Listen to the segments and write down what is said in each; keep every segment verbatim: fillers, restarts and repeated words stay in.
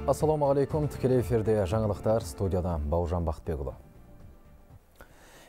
Ассалаумағалейкум, тікелей эфирде жаңалықтар, студияда Бауыржан Бақытбекұлы.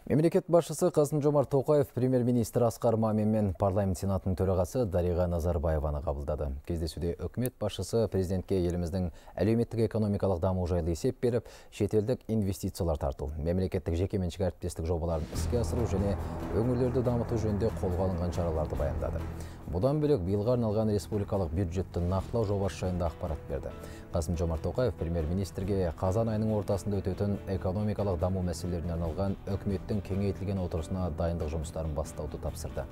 Мемлекет басшысы Қасым-Жомарт Тоқаев премьер-министр Асқар Мамин мен парламент сенатының төрағасы Дариға Назарбаеваны қабылдады. Кездесуде үкімет басшысы президентке еліміздің әлеуметтік экономикалық даму жайлы есеп беріп, шетелдік инвестициялар тарту, мемлекеттік жекеменшік әріптестік жобаларын іске асыру және өңірлерді дамыту жөнінде қолға алынған шараларды баяндады. Бұдан бөлек биылға арналған республикалық бюджетті нақтылау жобасы жайында ақпарат берді. Қасым-Жомарт Тоқаев премьер-министрге қазан айының ортасында өтетін экономикалық даму мәселелеріне арналған үкіметтің кеңейтілген отырысына дайындық жұмыстарын бастауды тапсырды.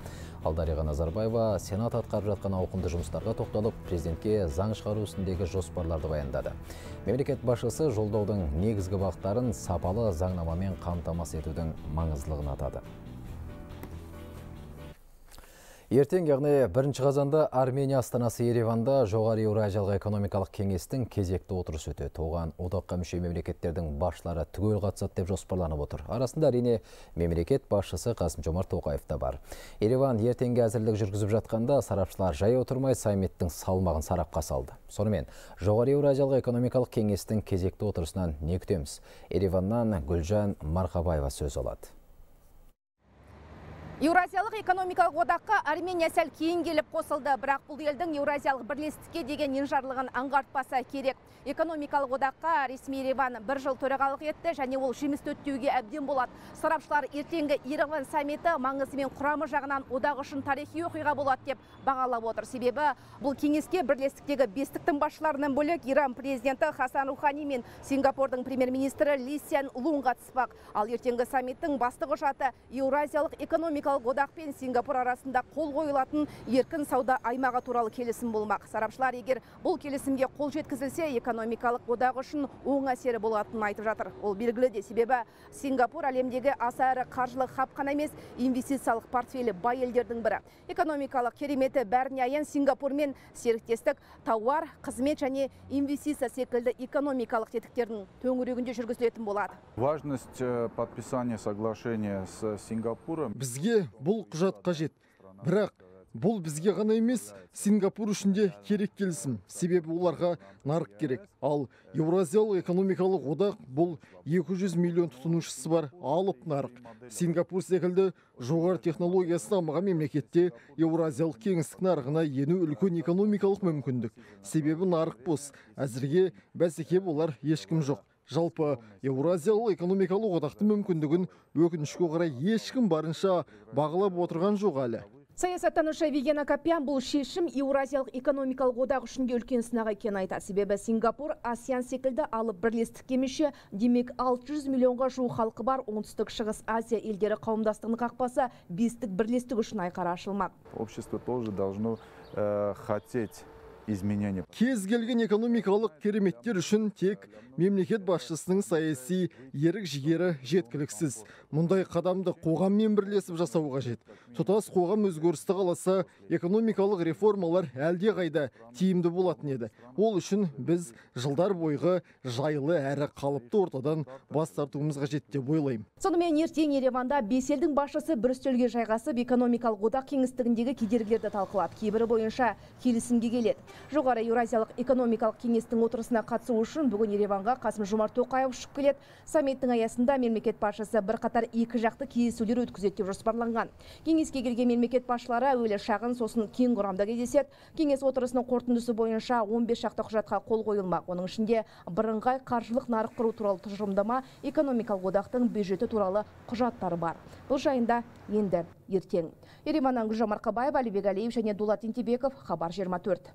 Ал Дариға Назарбаева сенат атқарып жатқан ауқымды жұмыстарға тоқталып, президентке заң шығару ісіндегі жоспарларды баяндады. Мемлекет басшысы жолдаудың негізгі бағыттарын сапалы заңнамамен қамтамасыз етудің маңыздылығын атады. Ертең, яғни бірінші қазанда Армения астанасы Ереванда жоғары Еуразиялық экономикалық кеңестің кезекті отырысы өтеді. Оған одаққа мүше мемлекеттердің басшылары түгел қатысады деп жоспарланып отыр. Арасында әрине мемлекет басшысы Қасым-Жомарт Тоқаев та бар. Ереван ертеңге әзірлік жүргізіп жатқанда сарапшылар жай отырмай саммиттің салмағын сарапқа салды. Сонымен, жоғары Еуразиялық экономикалық кеңестің кезекті отырысынан не күтеміз? Ереваннан Гүлжан Марқабаева сөз алады. Еуразиялық экономикалық одаққа Армения сәл кейін келіп қосылды, бірақ бұл елдің Еуразиялық бірлестікке деген енжарлығын аңғартпаса керек. Экономикалық одаққа ресми Ереван бір жыл төрағалық етті және ол жемісті өтуге әбден болады. Сарапшылар ертеңгі Ереван саммиті маңызы мен құрамы жағынан одақ үшін тарихи оқиға болады деп бағалап отыр. Себебі бұл кеңеске бірлестіктегі бестіктің басшыларынан бөлек Иран президенті Хасан Рухани мен Сингапурдың премьер-министрі Ли Сян Лун қатыспақ. Ал ертеңгі саммиттің басты құжаты Еуразиялық экономикалық одақ пен Сингапур арасында қол қойылатын еркін сауда аймағы туралы келісім болмақ. Сарапшылар егер бұл келісімге қол жеткізілсе, экономикалық одақ үшін оң әсері болатынын айтып жатыр. Ол белгілі де, себебі Сингапур әлемдегі аса ірі қаржылық хаб қана емес, инвестициялық портфелі бай елдердің бірі. Экономикалық кереметі бәріне аян Сингапурмен серіктестік, тауар, қызмет және инвестиция секілді экономикалық тетіктердің төңірегінде жүргізілетін болады. Важность подписания соглашения с Сингапуром. Бізге бұл құжат қажет, бірақ бұл бізге ғана емес, Сингапур үшін де керек келісім, себебі оларға нарық керек. Ал Еуразиялық экономикалық одақ бұл екі жүз миллион тұтынушысы бар алып нарық. Сингапур секілді жоғары технологиясы дамыған мемлекетте Еуразиялық кеңістік нарығына ену үлкен экономикалық мүмкіндік. Себебі нарық бос, әзірге бәсеке болар ешкім жоқ. Жалпы Еуразиялық экономикалық одақтың мүмкіндігін өкінішке қарай ешкім барынша бағалап отырған жоқ әлі. Саясаттанушы Виген Акопян бұл шешім Еуразиялық экономикалық одақ үшін де үлкен сынақ екенін айтады. Себебі Сингапур ASEAN секілді алып бірлестікке мүше, демек алты жүз миллионға жуық халқы бар оңтүстік шығыс Азия елдері қауымдастығының қақпасы бестік бірлестік үшін айқара ашылмақ. Общество тоже должно э, хотеть изменения. Кез келген экономикалық кереметтер үшін тек мемлекет басшысының саяси ерік жігері жеткіліксіз. Мұндай қадамды қоғаммен бірлесіп жасау қажет. Тұтас қоғам өзгерісті қаласа, экономикалық реформалар әлде қайда тиімді болатын еді. Ол үшін біз жылдар бойғы жайлы әрі қалыпты ортадан бас тартуымыз қажет деп ойлаймын. Сонымен ертең Ереванда бес елдің басшысы бір үстелге жайғасып, экономикалық одақ кеңістігіндегі кедергілерді талқылап, кейбірі бойынша келісімге келеді. Жоғары Еуразиялық экономикалық кеңестің отырысына қатысу үшін бүгін Ереванға Қасым-Жомарт Тоқаев ұшып келеді. Саммиттің аясында мемлекет басшысы бірқатар екі жақты кездесулер өткізеді деп жоспарланған. Кеңеске келген мемлекет басшылары әуелі шағын, сосын кең құрамда кездеседі. Кеңес отырысының қорытындысы бойынша он бес шақты құжатқа қол қойылмақ. Оның ішінде бірыңғай қаржылық нарық құру туралы тұжырымдама, экономикалық одақтың бюджеті туралы құжаттары бар. Бұл жайында енді ертең. Ереваннан Гүлжан Марқабаева, Алибек Алиев және Дулат Ентебеков, Хабар жиырма төрт.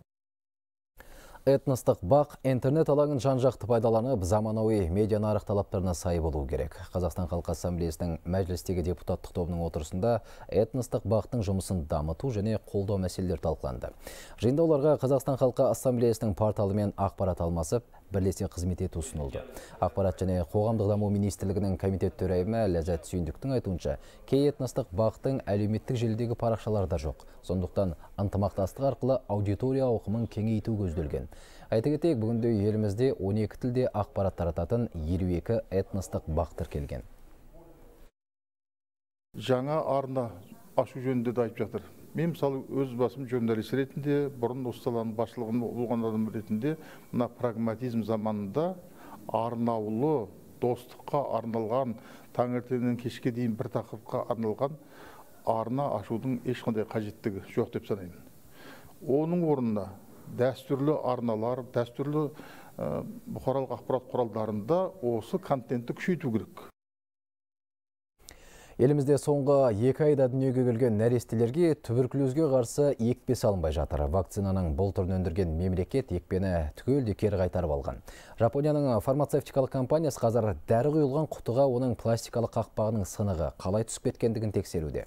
Этностық бақ интернет алаңын жан-жақты пайдаланып, заманауи медиа нарық талаптарына сай болу керек. Қазақстан Халқы Ассамблеясының мәжілістегі депутаттық тобының отырысында этностық бақтың жұмысын дамыту және қолдау мәселелері талқыланды. Жиында оларға Қазақстан Халқы Ассамблеясының порталымен ақпарат алмасып, бірлесе қызмет ету ұсынылды. Ақпарат және қоғамдық даму министрлігінің комитет төрайымы Ләззат Сүйіндіктің айтуынша, кей этностық бақтың әлеуметтік желідегі парақшаларда жоқ. Сондықтан ынтымақтастық арқылы аудитория ауқымын кеңейту көзделген. Айта кетейік, бүгінде елімізде он екі тілде ақпарат тарататын елу екі этностық бақ тіркелген. Жаңа арна ашу жөнінде де айтып жатыр. Мен мысалы өз басым журналист ретінде, бұрын осы саланың басшылығын болған адам ретінде, мына прагматизм заманында арнаулы достыққа арналған, таңертеңнен кешке дейін бір тақырыпқа арналған арна ашудың ешқандай қажеттігі жоқ деп санаймын. Оның орнына дәстүрлі арналар, дәстүрлі бұқаралық ақпарат құралдарында осы контентті күшейту керек. Елімізде соңғы екі айда дүниеге келген нәрестелерге туберкулезге қарсы екпе салынбай жатыр. Вакцинаның бұл түрін өндірген мемлекет екпені түгелдей кері қайтарып алған. Жапонияның фармацевтикалық компаниясы қазір дәрі құйылған құтыға оның пластикалық қақпағының сынығы қалай түсіп кеткендігін тексеруде.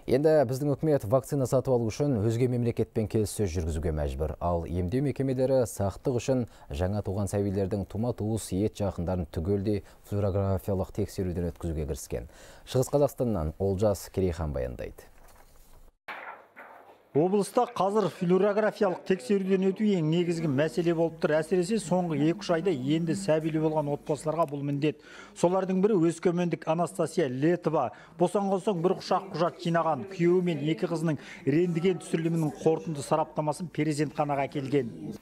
Енді біздің үкімет вакцина сатып алу үшін өзге мемлекетпен келіссөз жүргізуге мәжбүр. Ал емдеу мекемелері сақтық үшін жаңа туған сәбилердің тума-туыс ет жақындарын түгелдей флюорографиялық тексеруден өткізуге кіріскен. Шығыс Қазақстаннан Олжас Керейхан баяндайды. Облыста қазір флюорографиялық тексеруден өту ең негізгі мәселе болып тұр. Әсіресе соңғы екі-үш айда енді сәбилі болған отбасыларға бұл міндет. Солардың бірі өскемендік Анастасия Летова. Босанған соң бір құшақ құжат жинаған. Күйеуі мен екі қызының рентген түсірілімінің қорытынды сараптамасын перзентханаға әкелген.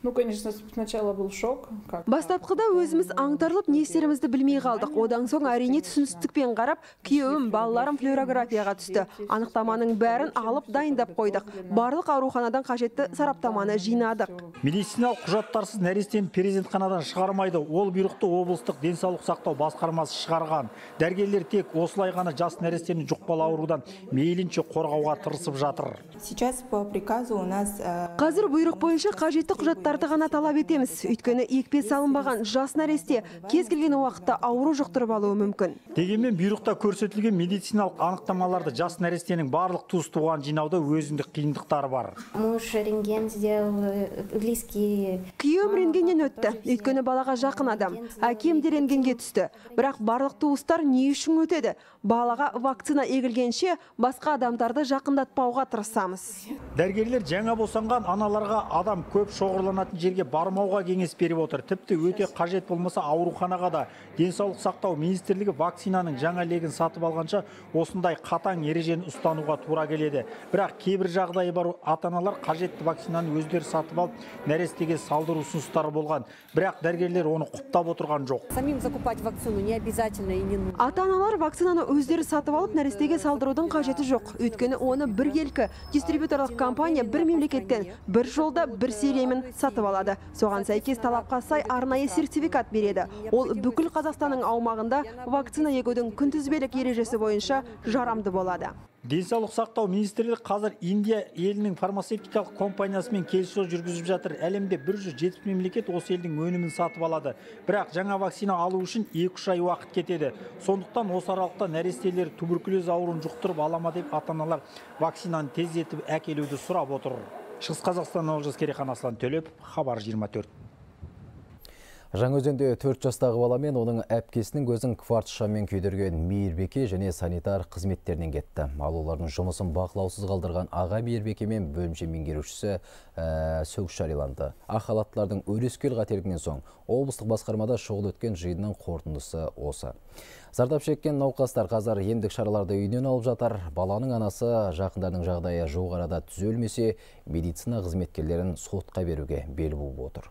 Бастапқыда өзіміз аңтарылып, не істерімізді білмей қалдық. Одан соң әрине түсіністікпен қарап, күйеуім, балаларым флюорографияға түсті. Анықтаманың бәрін алып дайындап қойдық. Барлық ауруханадан қажетті сараптаманы жинадық. Медициналық құжаттарсыз нәрестені перзентханадан шығармайды. Ол бұйрықты облыстық денсаулық сақтау басқармасы шығарған. Дәрігерлер тек осылай ғана жас нәрестені жұқпалы аурудан мейлінше қорғауға тырысып жатыр. Қазір бұйрық бойынша қажетті құжаттарды ғана талап етеміз. Өйткені екпе салынбаған жас нәресте кез келген уақытта ауру жұқтырып алуы мүмкін. Дегенмен бұйрықта көрсетілген медициналық анықтамаларды жас нәрестенің барлық туыс туған жинауда өзіндік қиындық бар. Күйеуім рентгеннен өтті. Өйткені балаға жақын адам. Әкем де рентгенге түсті. Бірақ барлық туыстар не үшін өтеді? Балаға вакцина егілгенше басқа адамдарды жақындатпауға тырысамыз. Дәрігерлер жаңа босанған аналарға адам көп шоғырланатын жерге бармауға кеңес беріп отыр. Тіпті өте қажет болмаса ауруханаға да. Денсаулық сақтау министрлігі вакцинаның жаңа легін сатып алғанша осындай қатаң ережені ұстануға тура келеді. Бірақ кейбір жағдайы бар ата-аналар қажетті вакцинаны өздері сатып алып, нәрестеге салдыру ұсыныстары болған. Бірақ дәрігерлер оны құптап отырған жоқ. Самим закупать вакцину не обязательно и не нужно. Ата-аналар вакцинаны өздері сатып алып, нәрестеге салдырудың қажеті жоқ. Өйткені оны біргелкі дистрибьюторлық компания бір мемлекеттен бір жолда бір сериямен сатып алады. Соған сәйкес талапқа сай арнайы сертификат береді. Ол бүкіл Қазақстанның аумағында вакцина егудің күнтізбелік ережесі бойынша жарамды болады. Денсаулық сақтау министрлігі қазір Индия елінің фармацевтикалық компаниясымен келіссөз жүргізіп жатыр. Әлемде бір жүз жетпіс мемлекет осы елдің өнімін сатып алады. Бірақ жаңа вакцина алу үшін екі-үш ай уақыт кетеді. Сондықтан осы аралықта нәрестелер туберкулез ауруын жұқтырып алама деп ата-аналар вакцинаны тездетіп әкелуді сұрап отыр. Шығыс Қазақстаннан Олжас Керейхан, Аслан Төлепов, Хабар жиырма төрт. Жаңаөзенде төрт жастағы бала мен оның әпкесінің көзін кварц шаммен күйдірген мейірбике және санитар қызметтерінен кетті. Ал олардың жұмысын бақылаусыз қалдырған аға мейірбике мен бөлімше меңгерушісі ә, сөгіс жарияланды. Ақ халаттылардың өрескел қателігінен соң облыстық басқармада шұғыл өткен жиынның қорытындысы осы. Зардап шеккен науқастар қазір емдік шараларды үйінен алып жатыр. Баланың анасы жақындарының жағдайы жуық арада түзелмесе, медицина қызметкерлерін сотқа беруге бел буып отыр.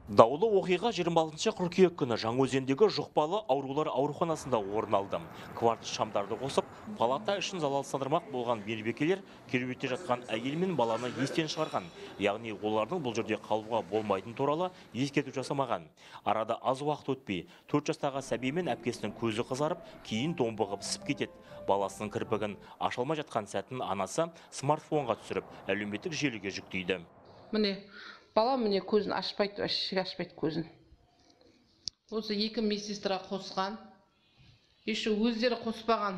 Даулы оқиға жиырма алтыншы қыркүйек күні Жаңаөзендегі жұқпалы аурулар ауруханасында орын алды. Кварц шамдарды қосып, палата үшін залалсыздандырмақ болған мейірбикелер кереуетте жатқан әйел мен баланы естен шығарған. Яғни олардың бұл жерде қалуға болмайтын туралы ескерту жасамаған. Арада аз уақыт өтпей, төрт жастағы сәби мен әпкесінің көзі қызарып, кейін томбығып ісіп кетеді. Баласының кірпігін ашылмай жатқан сәтін анасы смартфонға түсіріп, әлеуметтік желіге жүктейді. Міне балам міне көзін ашпайды, ашық ашпайды көзін. Осы екі медсестра қосқан. Еші өздері қоспаған.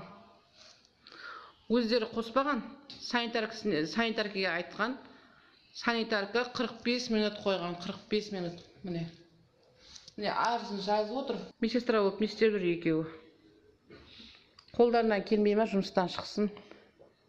Өздері қоспаған. Санитаркаға айтқан. Санитарка қырық бес минут қойған, қырық бес минут. Міне. Міне арызын жазып отыр. Медсестра болып не істеп жүр екеуі. Қолдарынан келмей ме жұмыстан шықсын.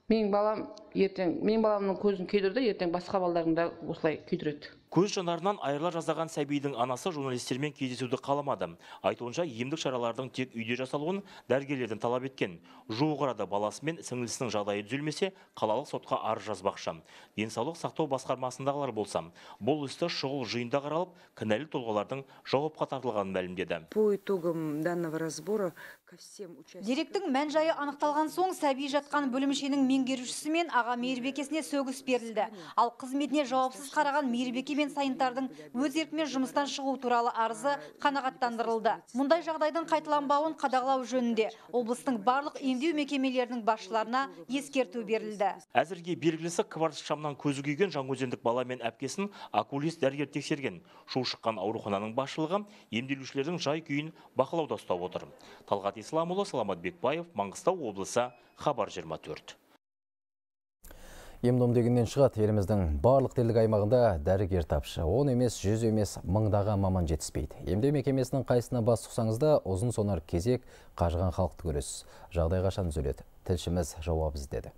Менің балам ертең, менің баламның көзін күйдірді, ертең басқа балалардың да осылай күйдіреді. Көз жанарынан айырыла жаздаған сәбидің анасы журналистермен кездесуді қаламады. Айтуынша емдік шаралардың тек үйде жасалуын дәрігерлерден талап еткен. Жуық арада баласы мен сіңлісінің жағдайы түзелмесе, қалалық сотқа арыз жазбақшы. Денсаулық сақтау басқармасындағылар болса, бұл істі шұғыл жиында қаралып, кінәлі тұлғалардың жауапқа тартылғанын мәлімдеді. По итогам данного разбора ко всем участникам... Деректің мән-жайы анықталған соң сәби жатқан бөлімшенің меңгерушісі мен аға мейірбекесіне сөгіс берілді. Ал қызметіне жауапсыз қараған мейірбеке мен сайынтардың өз еркімен жұмыстан шығу туралы арызы қанағаттандырылды. Мұндай жағдайдың қайталанбауын қадағалау жөнінде облыстың барлық емдеу мекемелерінің басшыларына ескерту берілді. Әзірге белгілісі кварц шамнан көзі күйген жаңаөзендік бала мен әпкесін окулист дәрігер тексерген. Шу шыққан аурухананың басшылығы емделушілердің жай күйін бақылауда ұстап отыр. Талғат Исламұлы, Саламат Бекбаев, Маңғыстау облысы, Хабар жиырма төрт. Ем-дом дегеннен шығады, еліміздің барлық тілдік аймағында дәрігер тапшы. Он емес, жүз емес, мыңдаған маман жетіспейді. Емдеу мекемесінің қайсына бас сұқсаңызда ұзын сонар кезек қажыған халықты көресіз. Жағдай қашан түзеледі? Тілшіміз жауап іздеді.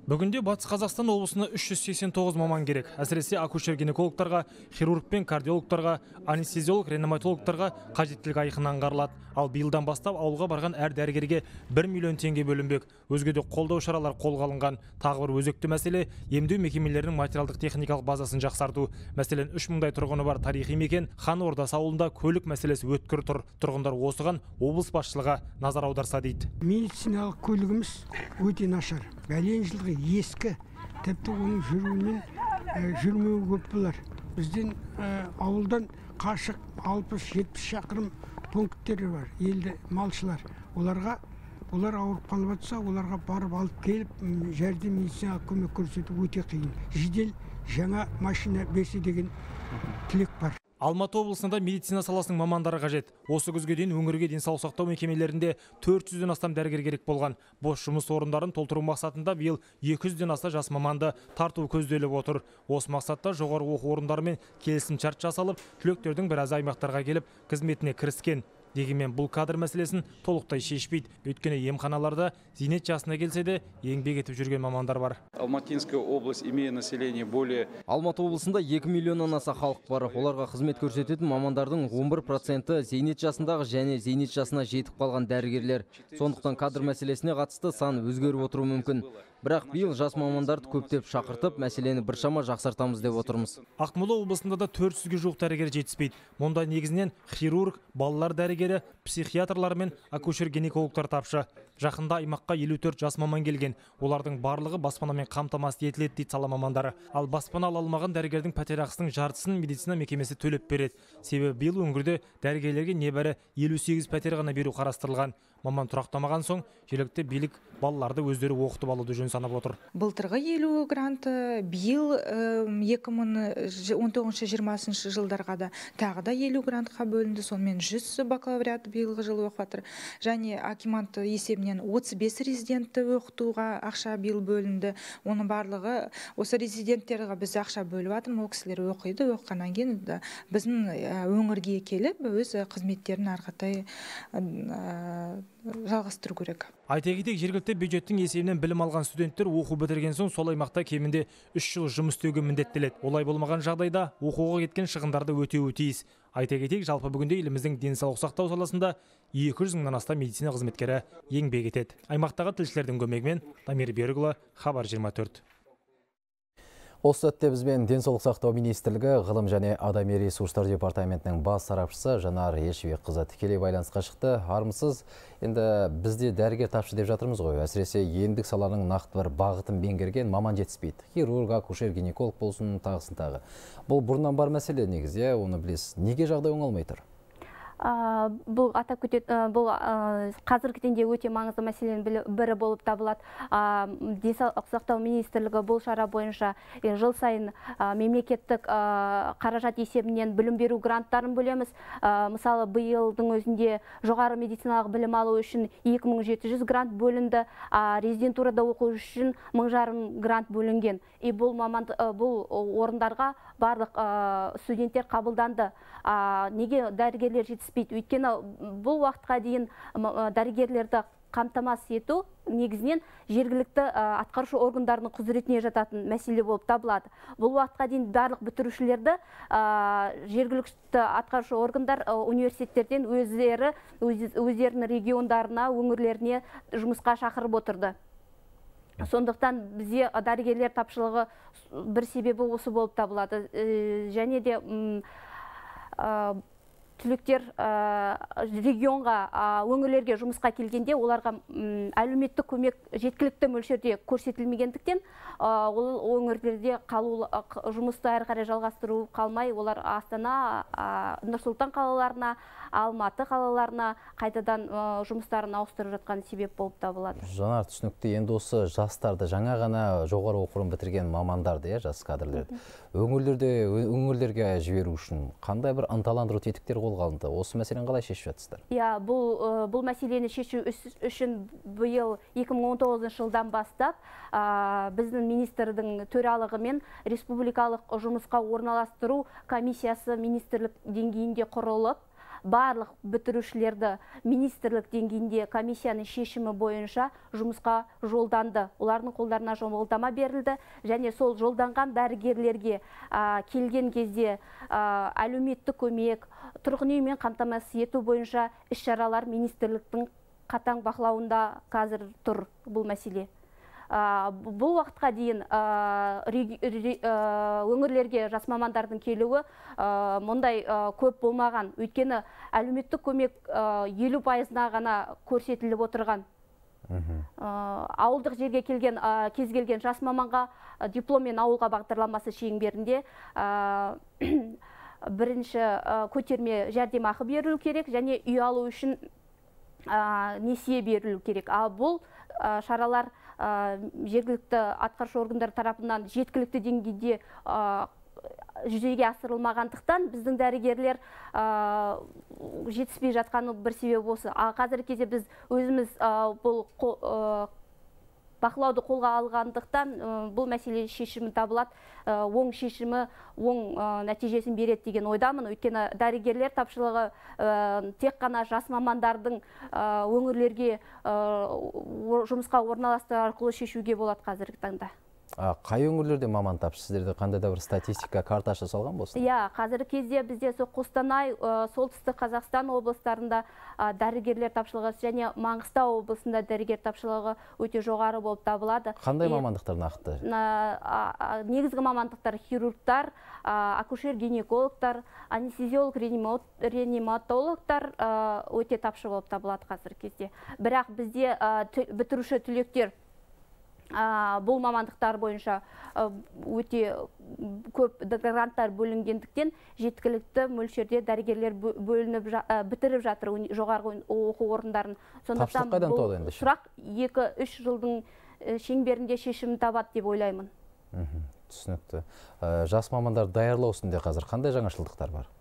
Бүгінде Батыс Қазақстан облысына үш жүз сексен тоғыз маман керек. Әсіресе акушер-гинекологтарға, хирург пен кардиологтарға, анестезиолог, реаниматологтарға қажеттілік айқын аңғарылады. Ал биылдан бастап ауылға барған әр дәрігерге бір миллион теңге бөлінбек. Өзге де қолдау шаралар қолға алынған. Тағы бір өзекті мәселе емдеу мекемелерінің материалдық техникалық базасын жақсарту. Мәселен, үш мыңдай тұрғыны бар тарихи мекен Хан Ордасы ауылында көлік мәселесі өткір тұр. Тұрғындар осыған облыс басшылығы назар аударса дейді. Медициналық көлігіміз өте нашар. Бәлен жылғы ескі, тіпті оның жүруінен жүрмеу көп болар. Бізден ауылдан қашық алпыс жетпіс шақырым пункттері бар, елді малшылар. Оларға, олар ауырып қалып жатса, оларға барып алып келіп, жәрдем медициналық көмек көрсету өте қиын. Жедел жаңа машина берсе деген тілек бар. Алматы облысында медицина саласының мамандары қажет. Осы күзге дейін өңірге денсаулық сақтау мекемелерінде төрт жүзден астам дәрігер керек болған. Бос жұмыс орындарын толтыру мақсатында биыл екі жүзден аса жас маманды тарту көзделіп отыр. Осы мақсатта жоғары оқу орындарымен келісім шарт жасалып, түлектердің біразы аймақтарға келіп қызметіне кіріскен. Дегенмен бұл кадр мәселесін толықтай шешпейді. Өйткені емханаларда зейнет жасына келсе де еңбек етіп жүрген мамандар бар. Алматинская область, имея население более... Алматы облысында екі миллионнан аса халық бар. Оларға қызмет көрсететін мамандардың он бір проценті зейнет жасындағы және зейнет жасына жетіп қалған дәрігерлер. Сондықтан кадр мәселесіне қатысты сан өзгеріп отыруы мүмкін. Бірақ биыл жас мамандарды көптеп шақыртып, мәселені біршама жақсартамыз деп отырмыз. Ақмола облысында да төрт жүзге жуық дәрігер жетіспейді. Мұнда негізінен хирург, балалар дәрігері, психиатрлар мен акушер-гинекологтар тапшы. Жақында аймаққа елу төрт жас маман келген. Олардың барлығы баспанамен қамтамасыз етіледі дейді сала мамандары. Ал баспана ала алмаған дәрігердің пәтерақысының жартысын медицина мекемесі төлеп береді. Себебі биыл өңірде дәрігерлерге небәрі елу сегіз пәтер ғана беру қарастырылған. Маман тұрақтамаған соң, жергілікті билік балаларды өздері оқытып алуды жөн санап отыр. Былтырғы елу гранты, биыл екі мың он тоғызыншы жиырмасыншы жылдарға да тағы да елу грантқа бөлінді. Сонымен жүз бакалавриат биылғы жылы оқып жатыр. Және акимат есебінен отыз бес резидентті оқытуға ақша биыл бөлінді. Оның барлығы осы резиденттерге біз ақша бөліп жатырмыз. Ол кісілер оқиды, оқығаннан кейін біздің өңірге келіп өз қызметтерін арқатай жалғастыру керек. Айта кетейік, жергілікті бюджеттің есебінен білім алған студенттер оқу бітірген соң сол аймақта кемінде үш жыл жұмыс істеуге міндеттеледі. Олай болмаған жағдайда оқуға кеткен шығындарды өтеуі тиіс. Айта кетейік, жалпы бүгінде еліміздің денсаулық сақтау саласында екі жүз мыңнан астам медицина қызметкері еңбек етеді. Аймақтағы тілшілердің көмегімен Дамир Берікұлы, Хабар жиырма төрт. Осы сәтте бізбен денсаулық сақтау министрлігі ғылым және адами ресурстар департаментінің бас сарапшысы Жанар Ешбекқызы тікелей байланысқа шықты. Армысыз, енді бізде дәрігер тапшы деп жатырмыз ғой. Әсіресе емдік саланың нақты бір бағытын меңгерген маман жетіспейді. Хирург, акушер, гинеколог болсын, тағысын тағы. Бұл бұрыннан бар мәселе негізі, оны білесіз. Неге жағдай оңалмай тұр? Бұл атап кетеді, бұл қазіргі таңда өте маңызды мәселенің бірі болып табылады. Денсаулық сақтау министрлігі бұл шара бойынша жыл сайын мемлекеттік қаражат есебінен білім беру гранттарын бөлеміз. Мысалы, биылдың өзінде жоғары медициналық білім алу үшін екі мың жеті жүз грант бөлінді, резидентурада оқу үшін мың жарым грант бөлінген. И бұл маман бұл орындарға барлық студенттер қабылданды. Неге дәрігерлер жетіспейді? Өйткені бұл уақытқа дейін дәрігерлерді қамтамасыз ету негізінен жергілікті атқарушы органдардың құзыретіне жататын мәселе болып табылады. Бұл уақытқа дейін барлық бітірушілерді жергілікті атқарушы органдар университеттерден өздері өздерінің региондарына, өңірлеріне жұмысқа шақырып отырды. Сондықтан бізде дәрігерлер тапшылығы бір себебі осы болып табылады. Және де түлектер регионға, өңірлерге жұмысқа келгенде оларға әлеуметтік көмек жеткілікті мөлшерде көрсетілмегендіктен ол өңірлерде қалу жұмысты әрі қарай жалғастыру қалмай, олар Астана, Нұр-Сұлтан қалаларына, Алматы қалаларына қайтадан жұмыстарын ауыстырып жатқан себеп болып табылады. Жанар, түсінікті. Енді осы жастарды, жаңа ғана жоғары оқу орнын бітірген мамандарды, жас кадрлерді өңірлерге жіберу үшін қандай бір ынталандыру тетіктер қолға алынды? Осы мәселені қалай шешіп жатсыздар? Иә, бұл мәселені шешу үшін биыл екі мың он тоғызыншы жылдан бастап біздің министрдің төралығымен республикалық жұмысқа орналастыру комиссиясы министрлік деңгейінде құрылып, барлық бітірушілерді министрлік деңгейінде комиссияның шешімі бойынша жұмысқа жолданды. Олардың қолдарына жолдама берілді, және сол жолданған дәрігерлерге келген кезде әлеуметтік көмек, тұрғын үймен қамтамасыз ету бойынша іс-шаралар министрліктің қатаң бақылауында қазір тұр бұл мәселе. Бұл уақытқа дейін өңірлерге жас мамандардың келуі мұндай көп болмаған. Өйткені әлеуметтік көмек елу пайызына ғана көрсетіліп отырған. Ауылдық жерге келген кез келген жас маманға дипломмен ауылға бағдарламасы шеңберінде бірінші көтерме жәрдемақы берілу керек, және үй алу үшін несие берілу керек. Ал бұл шаралар жергілікті атқарушы органдар тарапынан жеткілікті деңгейде жүзеге асырылмағандықтан біздің дәрігерлер жетіспей жатқаны бір себеп осы. Қазіргі кезде біз өзіміз бұл бақылауды қолға алғандықтан бұл мәселе шешімі табылады, оң шешімі, оң нәтижесін береді деген ойдамын. Өйткені дәрігерлер тапшылығы тек қана жас мамандардың өңірлерге жұмысқа орналастыру арқылы шешуге болады қазіргі таңда. Қай өңірлерде маман тапшы? Сіздерде қандай да бір статистика картасы жасалған болсын? Иә, қазіргі кезде бізде Қостанай, солтүстік Қазақстан облыстарында дәрігерлер тапшылығы және Маңғыстау облысында дәрігер тапшылығы өте жоғары болып табылады. Қандай мамандықтар нақты? Негізгі мамандықтар хирургтар, акушер-гинекологтар, анестезиолог, реаниматологтар өте тапшы болып табылады қазіргі кезде. Бірақ бізде бітіруші түлектер бұл мамандықтар бойынша өте көп гранттар бөлінгендіктен жеткілікті мөлшерде дәрігерлер бөлініп бітіріп жатыр жоғарғы оқу орындарын. Тапшылық қайдан туады енді? Сұрақ екі-үш жылдың шеңберінде шешімін табады деп ойлаймын. Түсінікті. Жас мамандар даярлау үстінде қазір қандай жаңашылдықтар бар?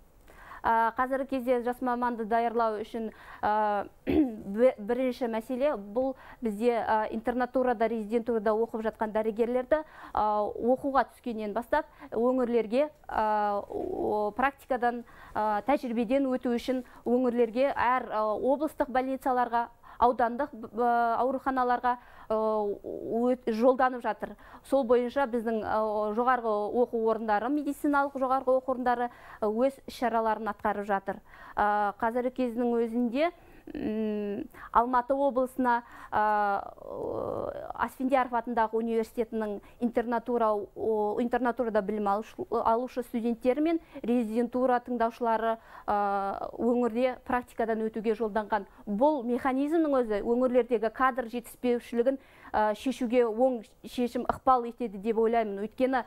Қазіргі кезде жас маманды даярлау үшін бірінші мәселе бұл бізде интернатурада, резидентурада оқып жатқан дәрігерлерді оқуға түскеннен бастап өңірлерге практикадан, тәжірибеден өту үшін өңірлерге әр облыстық больницаларға, аудандық ауруханаларға жолданып жатыр. Сол бойынша біздің жоғарғы оқу орындары, медициналық жоғарғы оқу орындары өз шараларын атқарып жатыр. Қазіргі кездің өзінде Алматы облысына Асфендияров атындағы университетінің интернатурада білім алушы студенттері мен резидентура тыңдаушылары өңірде практикадан өтуге жолданған. Бұл механизмнің өзі өңірлердегі кадр жетіспеушілігін шешуге оң шешім ықпал етеді деп ойлаймын. Өйткені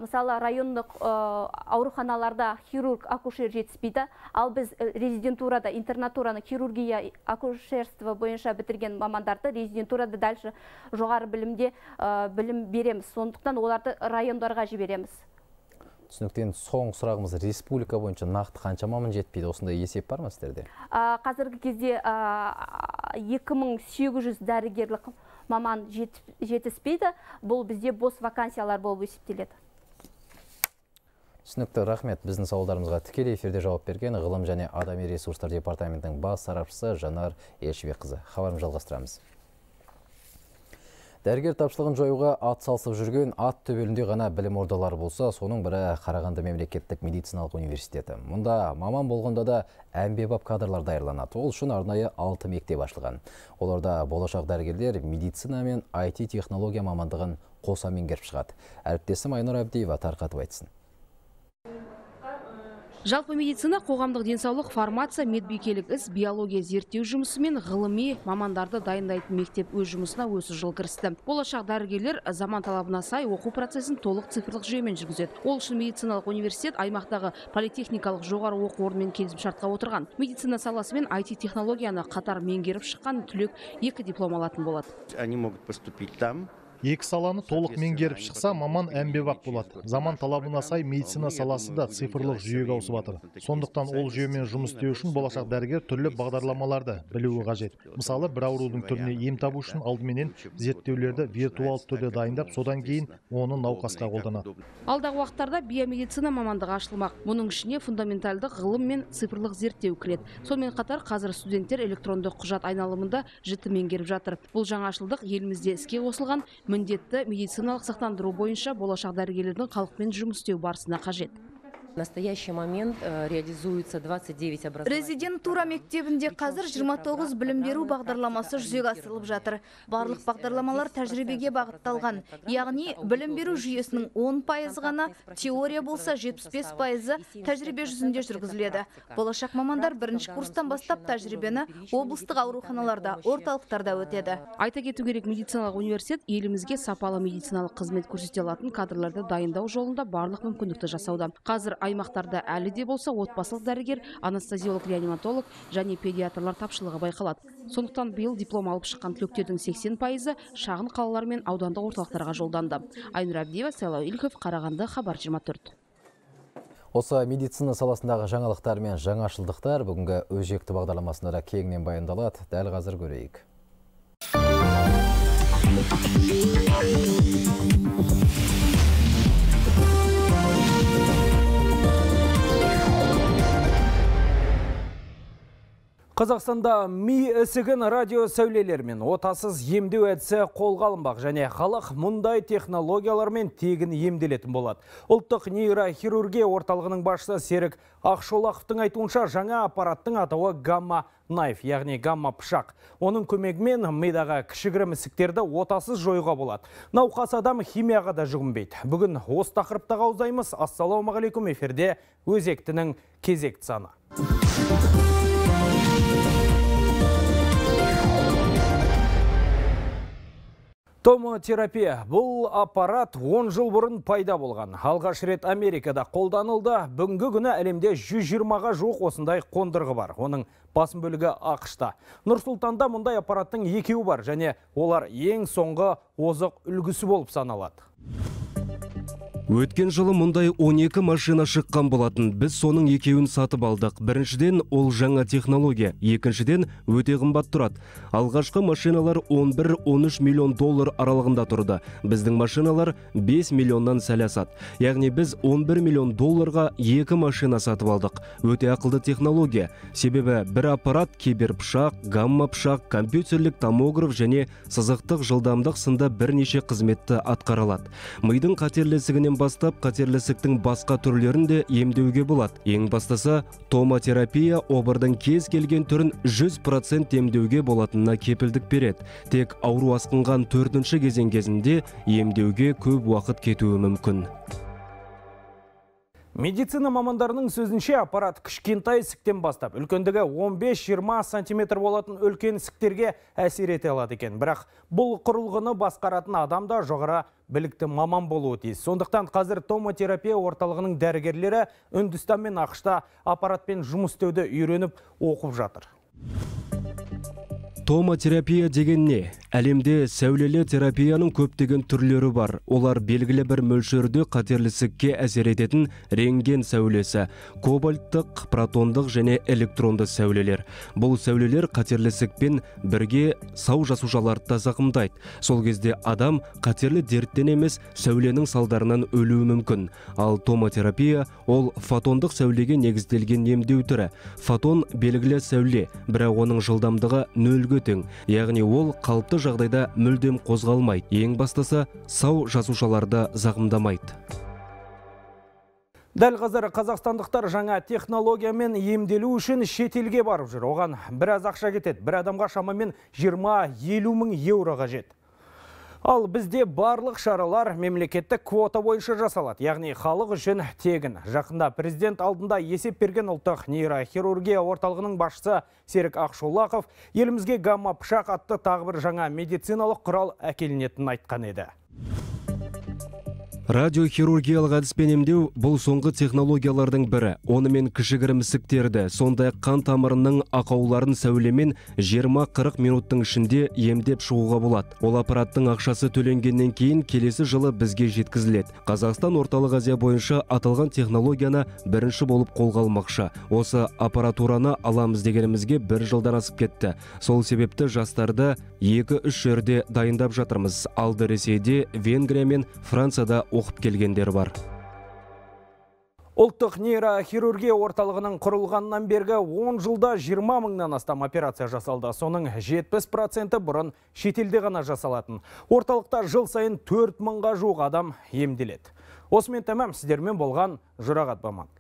мысалы райондық ауруханаларда хирург, акушер жетіспейді, ал біз резидентурада, интернатураны хирургия, акушерство бойынша бітірген мамандарды резидентурада дальше жоғары білімде білім береміз. Сондықтан оларды райондарға жібереміз. Түсініктен соңғы сұрағымыз, республика бойынша нақты қанша маман жетпейді? Осындай есеп бар ма сіздерде? Қазіргі кезде екі мың сегіз жүз дәрігерлік маман жетіспейді. Бұл бізде бос вакансиялар болып есептеледі. Түсінікті, рахмет. Біздің сауалдарымызға тікелей эфирде жауап берген ғылым және адами ресурстар департаментінің бас сарапшысы Жанар Елшібекқызы. Хабарын жалғастырамыз. Дәрігер тапшылығын жоюға ат салсып жүрген ат төбелінде ғана білім ордалары болса, соның бірі Қарағанды мемлекеттік медициналық университеті. Мұнда маман болғанда да әмбебап кадрлар даярланады. Ол үшін арнайы алты мектеп ашылған. Оларда болашақ дәрігерлер медицина мен ай ти технология мамандығын қоса меңгеріп шығады. Әріптесім Айнұр Әбдиева тарқатып айтсын. Жалпы медицина, қоғамдық денсаулық, фармация, медбикелік іс, биология зерттеу жұмысы мен ғылыми мамандарды дайындайтын мектеп өз жұмысына осы жыл кірісті. Болашақ дәрігерлер заман талабына сай оқу процесін толық цифрлық жүйемен жүргізеді. Ол үшін медициналық университет аймақтағы политехникалық жоғары оқу орнымен келісімшартқа отырған. Медицина саласы мен ай ти технологияны қатар меңгеріп шыққан түлек екі диплом алатын болады. Они могут поступить там. Екі саланы толық меңгеріп шықса, маман әмбебап болады. Заман талабына сай медицина саласы да цифрлық жүйеге ауысып жатыр. Сондықтан ол жүйемен жұмыс істеу үшін болашақ дәрігер түрлі бағдарламаларды білуі қажет. Мысалы, бір аурудың түріне ем табу үшін алдыменен зерттеулерді виртуал түрде дайындап, содан кейін оны науқасқа қолданады. Алдағы уақыттарда биомедицина мамандығы ашылмақ. Мұның ішіне фундаменталдық ғылым мен цифрлық зерттеу кіреді. Сонымен қатар қазір студенттер электронды құжат айналымында жіті меңгеріп жатыр. Бұл жаңашылдық елімізде іске қосылған міндетті медициналық сақтандыру бойынша болашақ дәрігерлердің халықпен жұмыс істеу барысына қажет. В настоящий момент реализуется двадцать девять образований. Резидентура мектебінде қазір жиырма тоғыз білім беру бағдарламасы жүзеге асырылып жатыр. Барлық бағдарламалар тәжірибеге бағытталған. Яғни білім беру жүйесінің он пайызы ғана теория болса, жетпіс бес пайызы тәжірибе жүзінде жүргізіледі. Болашақ мамандар бірінші курстан бастап тәжірибені облыстық ауруханаларда, орталықтарда өтеді. Айта кету керек, медициналық университет елімізге сапалы медициналық қызмет көрсете алатын кадрларды дайындау жолында барлық мүмкіндікті жасауда. Қазір аймақтарда әлі де болса отбасылық дәрігер, анестезиолог, реаниматолог және педиатрлар тапшылығы байқалады. Сондықтан биыл диплом алып шыққан түлектердің сексен пайызы шағын қалалар мен аудандық орталықтарға жолданды. Айнұр Әбдиева, Сайлау Ильков, Қарағанды, Хабар жиырма төрт. Осы медицина саласындағы жаңалықтар мен жаңашылдықтар бүгінгі өзекті бағдарламасында кеңінен баяндалады. Дәл қазір көрейік. Қазақстанда ми ісігін радио сәулелермен отасыз емдеу әдісі қолға алынбақ және халық мұндай технологиялармен тегін емделетін болады. Ұлттық нейрохирургия орталығының басшысы Серік Ақшолақовтың айтуынша, жаңа аппараттың атауы гамма найф, яғни гамма пышақ. Оның көмегімен мидағы кішігірім ісіктерді отасыз жоюға болады. Науқас адам химияға да жүгінбейді. Бүгін осы тақырыптағы аузаймыз. Ассалаумағалейкум, эфирде өзектінің кезекті саны. Томотерапия. Бұл аппарат он жыл бұрын пайда болған. Алғаш рет Америкада қолданылды. Бүгінгі күні әлемде жүз жиырмаға жуық осындай қондырғы бар. Оның басым бөлігі ақшта. Нұр-Сұлтанда мұндай аппараттың екеуі бар және олар ең соңғы озық үлгісі болып саналады. Өткен жылы мұндай он екі машина шыққан болатын. Біз соның екеуін сатып алдық. Біріншіден, ол жаңа технология. Екіншіден, өте қымбат тұрады. Алғашқы машиналар он бір он үш миллион доллар аралығында тұрды. Біздің машиналар бес миллионнан сәл асады. Яғни біз он бір миллион долларға екі машина сатып алдық. Өте ақылды технология. Себебі бір аппарат киберпышақ, гамма пышақ, компьютерлік томограф және сызықтық жылдамдық сынды бірнеше қызметті атқара алады. Мидың қатерлесігінен бастап қатерлісіктің басқа түрлерін де емдеуге болады. Ең бастысы, томотерапия обырдың кез келген түрін жүз процент емдеуге болатынына кепілдік береді. Тек ауру асқынған төртінші кезең кезінде емдеуге көп уақыт кетуі мүмкін. Медицина мамандарының сөзінше, аппарат кішкентай ісіктен бастап, үлкендігі он бес жиырма сантиметр болатын үлкен ісіктерге әсер ете алады екен. Бірақ бұл құрылғыны басқаратын адам да жоғары білікті маман болуы тиіс. Сондықтан қазір томотерапия орталығының дәрігерлері Үндістан мен ақшта аппаратпен жұмыс істеуді үйреніп оқып жатыр. Томотерапия деген не? Әлемде сәулелі терапияның көптеген түрлері бар. Олар белгілі бір мөлшерде қатерлісікке әсер ететін рентген сәулесі, кобальттық, протондық және электронды сәулелер. Бұл сәулелер қатерлісікпен бірге сау жасушаларды да зақымдайды. Сол кезде адам қатерлі дерттен емес, сәуленің салдарынан өлуі мүмкін. Ал томотерапия ол фотондық сәулеге негізделген емдеу түрі. Фотон белгілі сәуле, бірақ оның жылдамдығы нөлге тең, яғни ол қалыпты жағдайда мүлдем қозғалмайды. Ең бастысы, сау жасушаларды зақымдамайды. Дәл қазір қазақстандықтар жаңа технологиямен емделу үшін шетелге барып жүр. Оған біраз ақша кетеді. Бір адамға шамамен жиырма-елу мың еуро қажет. Ал бізде барлық шаралар мемлекеттік квота бойынша жасалады, яғни халық үшін тегін. Жақында президент алдында есеп берген ұлттық нейрохирургия орталығының басшысы Серік Ақшолақов елімізге гамма пышақ атты тағы бір жаңа медициналық құрал әкелінетінін айтқан еді. Радиохирургиялық әдіспен емдеу бұл соңғы технологиялардың бірі. Онымен кішігірім ісіктерді, сондай қан тамырының ақауларын сәулемен жиырма-қырық минуттың ішінде емдеп шығуға болады. Ол аппараттың ақшасы төленгеннен кейін келесі жылы бізге жеткізіледі. Қазақстан орталық Азия бойынша аталған технологияны бірінші болып қолға алмақшы. Осы аппаратураны аламыз дегенімізге бір жылдан асып кетті. Сол себепті жастарды екі-үш жерде дайындап жатырмыз. Алды Ресейде, Венгрия мен Францияда оқып келгендер бар. Ұлттық нейрохирургия орталығының құрылғаннан бергі он жылда жиырма мыңнан астам операция жасалды. Соның жетпіс проценті бұрын шетелде ғана жасалатын. Орталықта жыл сайын төрт мыңға жуық адам емделеді. Осымен тәмам, сіздермен болған Жұрағат Баман.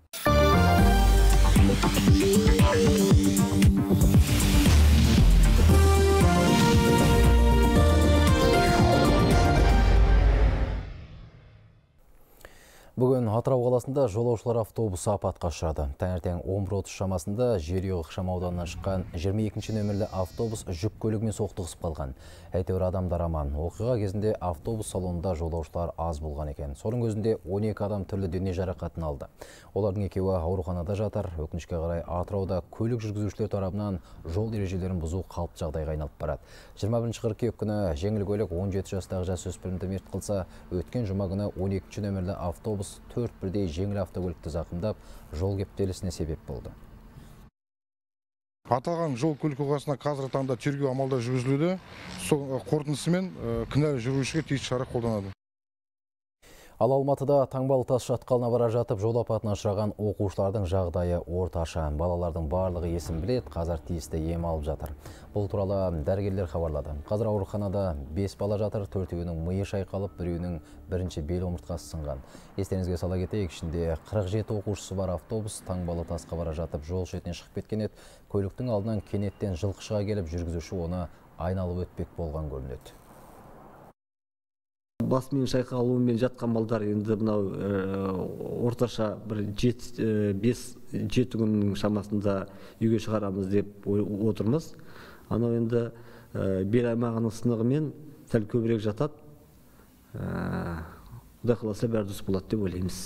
Бүгін Атырау қаласында жолаушылар автобусы апатқа ұшырады. Таңертең он бір отыз шамасында Жерұйық ықшамауданынан шыққан жиырма екінші нөмірлі автобус жүк көлігімен соқтығысып қалған. Әйтеуір адамдар аман. Оқиға кезінде автобус салонында жолаушылар аз болған екен. Соның өзінде он екі адам түрлі дене жарақатын алды. Олардың екеуі ауруханада жатыр. Өкінішке қарай Атырауда көлік жүргізушілер тарапынан жол ережелерін бұзу қалыпты жағдайға айналып барады. жиырма бірінші қыркүйек күні жеңіл көлік он жеті жастағы жасөспірімді мерт қылса, өткен жұма күні он екінші нөмірлі автобус төрт бірдей жеңіл автокөлікті зақымдап, жол кептелісіне себеп болды. Аталған жол көлік оқиғасына қазіргі таңда тергеу амалдары жүргізілуде. Сол қорытындысымен кінәлі жүргізушіге тиісті шара қолданады. Ал Алматыда таңбалы тас шатқалына бара жатып жол апатына ұшыраған оқушылардың жағдайы орташа. Балалардың барлығы есін біледі, қазір тиісті ем алып жатыр. Бұл туралы дәрігерлер хабарлады. Қазір ауруханада бес бала жатыр, төртеуінің миы шайқалып, біреуінің бірінші бел омыртқасы сынған. Естеріңізге сала кетейік, ішінде қырық жеті оқушысы бар автобус таңбалы тасқа бара жатып жол шетіне шығып кеткен еді. Көліктің алдынан кенеттен жылқы шыға келіп, жүргізуші оны айналып өтпек болған көрінеді. Басымен шайқалуымен жатқан балдар енді мынау орташа бір бес жеті күннің шамасында үйге шығарамыз деп отырмыз. Анау енді бел аймағының сынығымен сәл көбірек жатады. Құдай қаласа бәрі дұрыс болады деп ойлаймыз.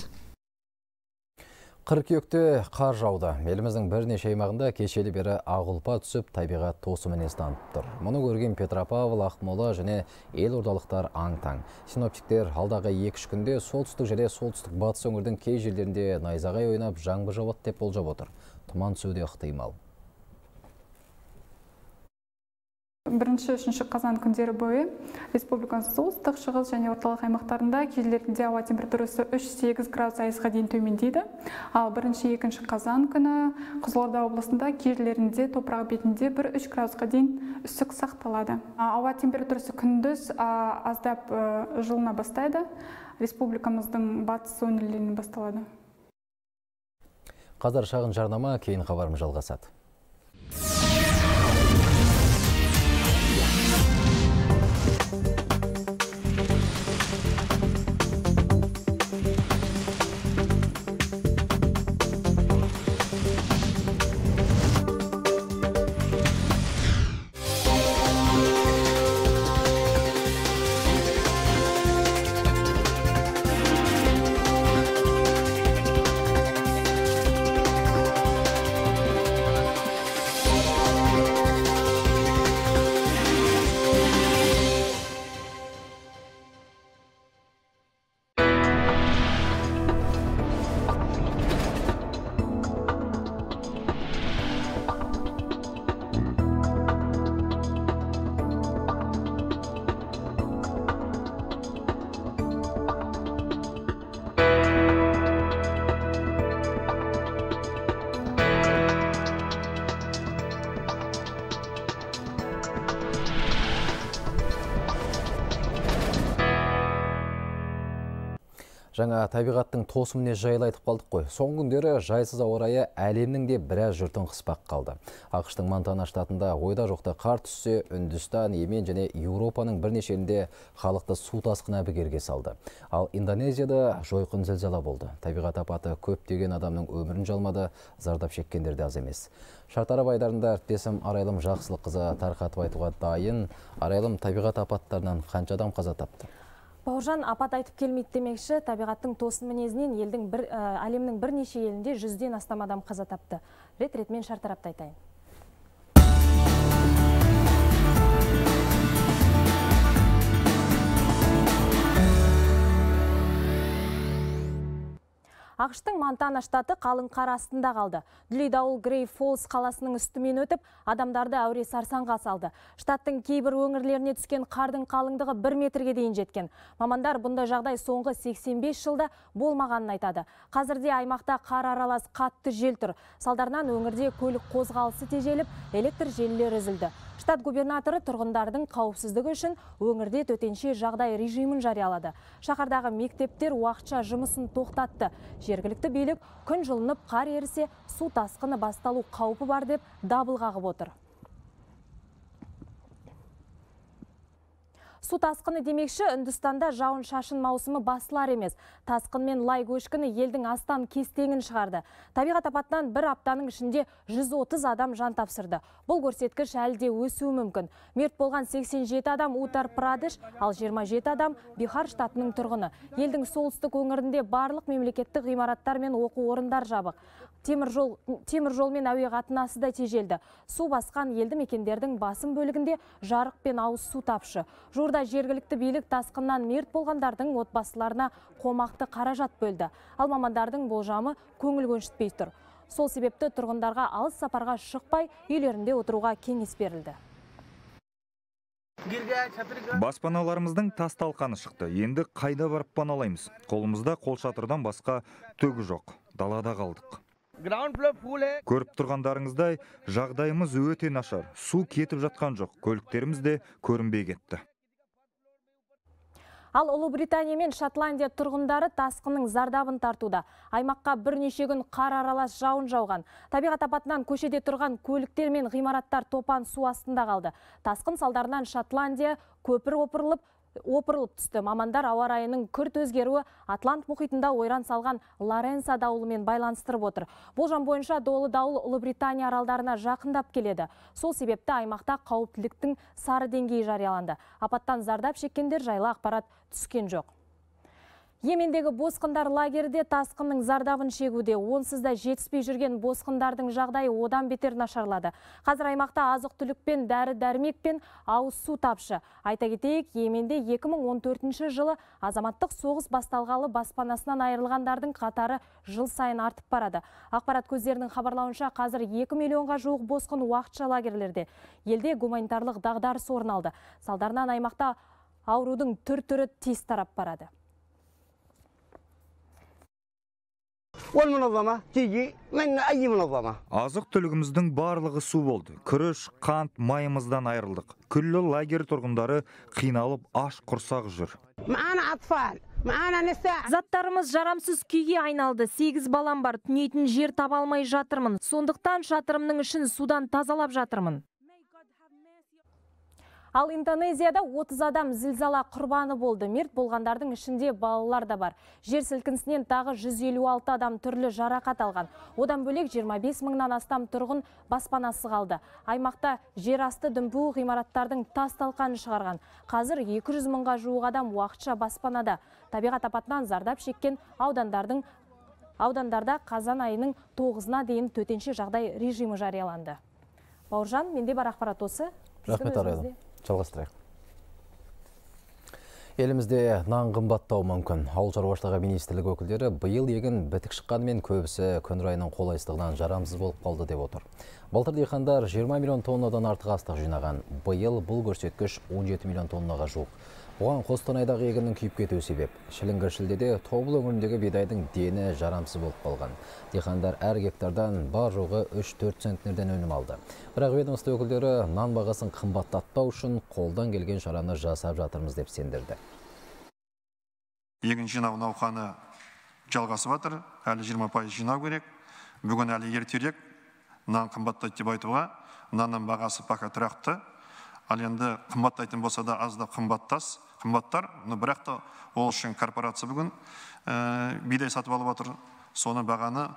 Қыркүйекте қар жауды. Еліміздің бірнеше аймағында кешелі бері ағылпа түсіп, табиғат тосы мінез танытып тұр. Мұны көрген Петропавл, Ақмола және елордалықтар аң-таң. Синоптиктер алдағы екі-үш күнде солтүстік және солтүстік батыс өңірдің кей жерлерінде найзағай ойнап, жаңбыр жауады деп болжап отыр. Тұман түсуі де ықтимал. Бірінші үшінші қазан күндері бойы республиканың солтүстік, шығыс және орталық аймақтарында кей жерлерінде ауа температурасы үш-сегіз градус аясқа дейін төмендейді. Ал бірінші екінші қазан күні Қызылорда облысында кей жерлерінде топырақ бетінде бір-үш градусқа дейін үсік сақталады. Ауа температурасы күндіз аздап жылына бастайды. Республикамыздың батыс өңірлерінен басталады. Қазір шағын жарнама, кейін хабарымыз жалғасады. Жаңа табиғаттың тосыміне жайлы айтып қалдық қой. Соңғы күндері жайсыз ауа райы әлемнің де біраз жұртын қыспақ қалды. ақш-тың Монтана штатында ойда жоқта қар түссе, Үндістан, Йемен және Еуропаның бірнеше елінде халықты су тасқыны әбігерге салды. Ал Индонезияда жойқын зілзала болды. Табиғат апаты көптеген адамның өмірін жалмады, зардап шеккендер де аз емес. Шартарап айдарында әріптесім Арайлым Жақсылыққызы тарқатып айтуға дайын. Арайлым, табиғат апаттарынан қанша адам қаза тапты? Бауыржан, апат айтып келмейді демекші, табиғаттың тосын мінезінен елдің бір, әлемнің бірнеше елінде жүзден астам адам қаза тапты. Рет-ретмен шартарапты айтайын. ақш-тың Монтана штаты қалың қар астында қалды. Дүлей дауыл Грей Фолс қаласының үстімен өтіп, адамдарды әуре сарсаңға салды. Штаттың кейбір өңірлеріне түскен қардың қалыңдығы бір метрге дейін жеткен. Мамандар бұндай жағдай соңғы сексен бес жылда болмағанын айтады. Қазірде аймақта қар аралас қатты жел тұр. Салдарынан өңірде көлік қозғалысы тежеліп, электр желілері үзілді. Штат губернаторы тұрғындардың қауіпсіздігі үшін өңірде төтенше жағдай режимін жариялады. Шаһардағы мектептер уақытша жұмысын тоқтатты. Жергілікті билік күн жылынып қар ерісе, су тасқыны басталу қаупі бар деп дабыл қағып отыр. Су тасқыны демекші, Үндістанда жауын шашын маусымы басылар емес. Тасқын мен лай көшкіні елдің астан кестеңін шығарды. Табиғат апатынан бір аптаның ішінде жүз отыз адам жан тапсырды. Бұл көрсеткіш әлі де өсуі мүмкін. Мерт болған сексен жеті адам Утар Прадеш, ал жиырма жеті адам Бихар штатының тұрғыны. Елдің солтүстік өңірінде барлық мемлекеттік ғимараттар мен оқу орындар жабық. Темір жол, темір жол мен әуе қатынасы да тежелді. Су басқан елді мекендердің басым бөлігінде жарық пен ауыз су тапшы. Жуырда жергілікті билік тасқыннан мерт болғандардың отбасыларына қомақты қаражат бөлді. Ал мамандардың болжамы көңіл көншітпей тұр. Сол себепті тұрғындарға алыс сапарға шықпай, үйлерінде отыруға кеңес берілді. Баспаналарымыздың тас талқаны шықты. Енді қайда барып паналаймыз? Қолымызда қолшатырдан басқа түгі жоқ. Далада қалдық. Көріп тұрғандарыңыздай, жағдайымыз өте нашар. Су кетіп жатқан жоқ. Көліктеріміз де көрінбей кетті. Ал Ұлыбритания мен Шотландия тұрғындары тасқынның зардабын тартуда. Аймаққа бірнеше күн қар аралас жауын жауған. Табиғат апатынан көшеде тұрған көліктер мен ғимараттар топан су астында қалды. Тасқын салдарынан Шотландия көпір опырылып, опырылып түсті. Мамандар ауа райының күрт өзгеруі Атлант мұхитында ойран салған Лоренса дауылымен байланыстырып отыр. Болжам бойынша долы дауыл Ұлыбритания аралдарына жақындап келеді. Сол себепті аймақта қауіптіліктің сары деңгейі жарияланды. Апаттан зардап шеккендер жайлы ақпарат түскен жоқ. Йемендегі босқындар лагерде тасқынның зардабын шегуде. Онсыз да жетіспей жүрген босқындардың жағдайы одан бетер нашарлады. Қазір аймақта азық-түлік пен дәрі-дәрмек пен ауыз су тапшы. Айта кетейік, Йеменде екі мың он төртінші жылы азаматтық соғыс басталғалы баспанасынан айырылғандардың қатары жыл сайын артып барады. Ақпарат көздерінің хабарлауынша қазір екі миллионға жуық босқын уақытша лагерлерде. Елде гуманитарлық дағдарыс орын алды. Салдарынан аймақта аурудың түр-түрі тез тарап барады. Азық түлігіміздің барлығы су болды. Күріш, қант, майымыздан айырылдық. Күллі лагерь тұрғындары қиналып аш құрсақ жүр. Заттарымыз жарамсыз күйге айналды. сегіз балам бар. Түнейтін жер таба алмай жатырмын. Сондықтан шатырымның ішін судан тазалап жатырмын. Ал Индонезияда отыз адам зілзала құрбаны болды. Мерт болғандардың ішінде балалар да бар. Жер сілкінісінен тағы жүз елу алты адам түрлі жарақат алған. Одан бөлек жиырма бес мыңнан астам тұрғын баспанасы қалды. Аймақта жер асты дүмпуі ғимараттардың тас талқанын шығарған. Қазір екі жүз мыңға жуық адам уақытша баспанада. Табиғат апатынан зардап шеккен аудандардың аудандарда қазан айының тоғызына дейін төтенше жағдай режимі жарияланды. Бауыржан, менде бар ақпарат осы. Рахмет, Арайлым. Жалғастырайық. Елімізде нан қымбаттауы мүмкін. Ауыл шаруашылығы министрлігі өкілдері биыл егін бітік шыққанымен көбісі күн райының қолайсыздығынан жарамсыз болып қалды деп отыр. Былтыр диқандар жиырма миллион тоннадан артық астық жинаған. Биыл бұл көрсеткіш он жеті миллион тоннаға жуық. Оған Қостанайдағы егіннің күйіп кетуі себеп. Шіліңгір шілдеде Тобыл өңіріндегі бидайдың дені жарамсыз болып қалған. Диқандар әр гектардан бар жоғы үш төрт центнерден өнім алды. Бірақ ведомство өкілдері нан бағасын қымбаттатпау үшін қолдан келген шараны жасап жатырмыз деп сендірді. Егін жинау науқаны жалғасып жатыр. Әлі жиырма пайыз жинау керек. Бүгін әлі ертерек нан қымбаттайды деп айтуға. Нанның бағасы пока тұрақты. Ал енді қымбаттайтын болса да аз да қымбаттас, қымбаттар. Бірақ та ол үшін корпорация бүгін бидай сатып алып отыр. Соны бағаны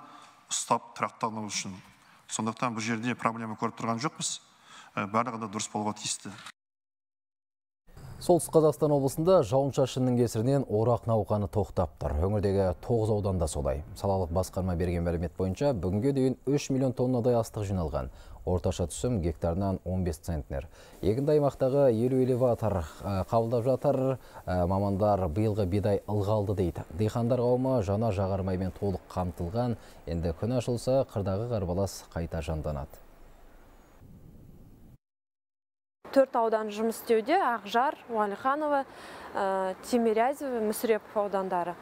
ұстап тұрақталу үшін. Сондықтан бұл жерде проблема көріп тұрған жоқпыз. Барлығы да дұрыс болуға тиісті. Солтүстік Қазақстан облысында жауын-шашынның кесірінен орақ науқаны тоқтап тұр. Өңірдегі тоғыз ауданда солай. Салалық басқарма берген мәлімет бойынша бүгінге дейін үш миллион тоннадай астық жиналған. Орташа түсім гектарынан он бес центнер. Егінді аймақтағы елу элеватор қабылдап жатыр. Мамандар биылғы бидай ылғалды дейді. Диқандар қауымы жаңа жағармаймен толық қамтылған. Енді күн ашылса, қырдағы қарбалас қайта жанданады. Төрт аудан жұмыс істеуде: Ақжар, Уәлиханова, Тимирязев, Мүсірепов аудандары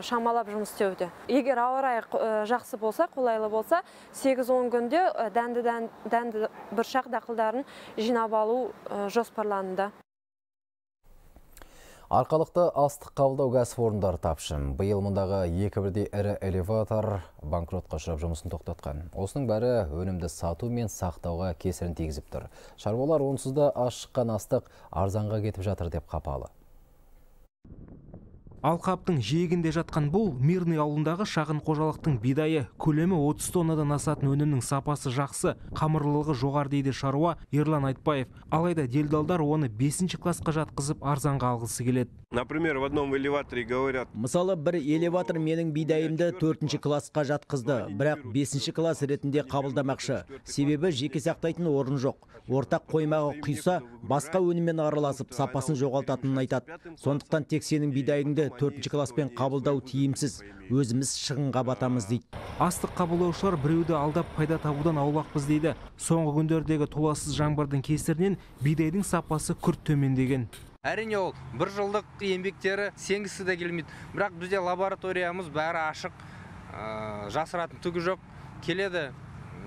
шамалап жұмыс істеуде. Егер ауа райы жақсы болса, қолайлы болса, сегіз он күнде дәнді бұршақ дақылдарын жинап алу жоспарланды. Арқалықты астық қабылдау кәсіпорындары тапшы. Биыл мұндағы екі бірдей ірі элеватор банкротқа ұшырап жұмысын тоқтатқан. Осының бәрі өнімді сату мен сақтауға кесірін тигізіп тұр. Шаруалар онсыз да аз шыққан астық арзанға кетіп жатыр деп қапалы. Алқаптың жиегінде жатқан бұл Мирный ауылындағы шағын қожалықтың бидайы. Көлемі отыз тоннадан асатын өнімнің сапасы жақсы, қамырлылығы жоғары дейді шаруа Ерлан Айтбаев. Алайда делдалдар оны бесінші классқа жатқызып арзанға алғысы келеді. Например, в одном элеваторе говорят. Мысалы, бір элеватор менің бидайымды төртінші классқа жатқызды, бірақ бесінші класс ретінде қабылдамақшы. Себебі жеке сақтайтын орын жоқ. Ортақ қоймағы құйса, басқа өніммен араласып, сапасын жоғалтатынын айтады. Сондықтан тек сенің бидайыңды төртінші класспен қабылдау тиімсіз. Өзіміз шығынға батамыз дейді. Астық қабылдаушылар біреуді алдап пайда табудан аулақпыз дейді. Соңғы күндердегі толассыз жаңбырдың кесірінен бидайдың сапасы күрт төмендеген. Әрине ол бір жылдық еңбектері сенгісі де келмейді. Бірақ бізде лабораториямыз бәрі ашық, жасыратын түгі жоқ. Келеді,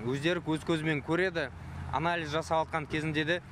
өздері көз көзімен көреді, анализ жасап атқан кезінде де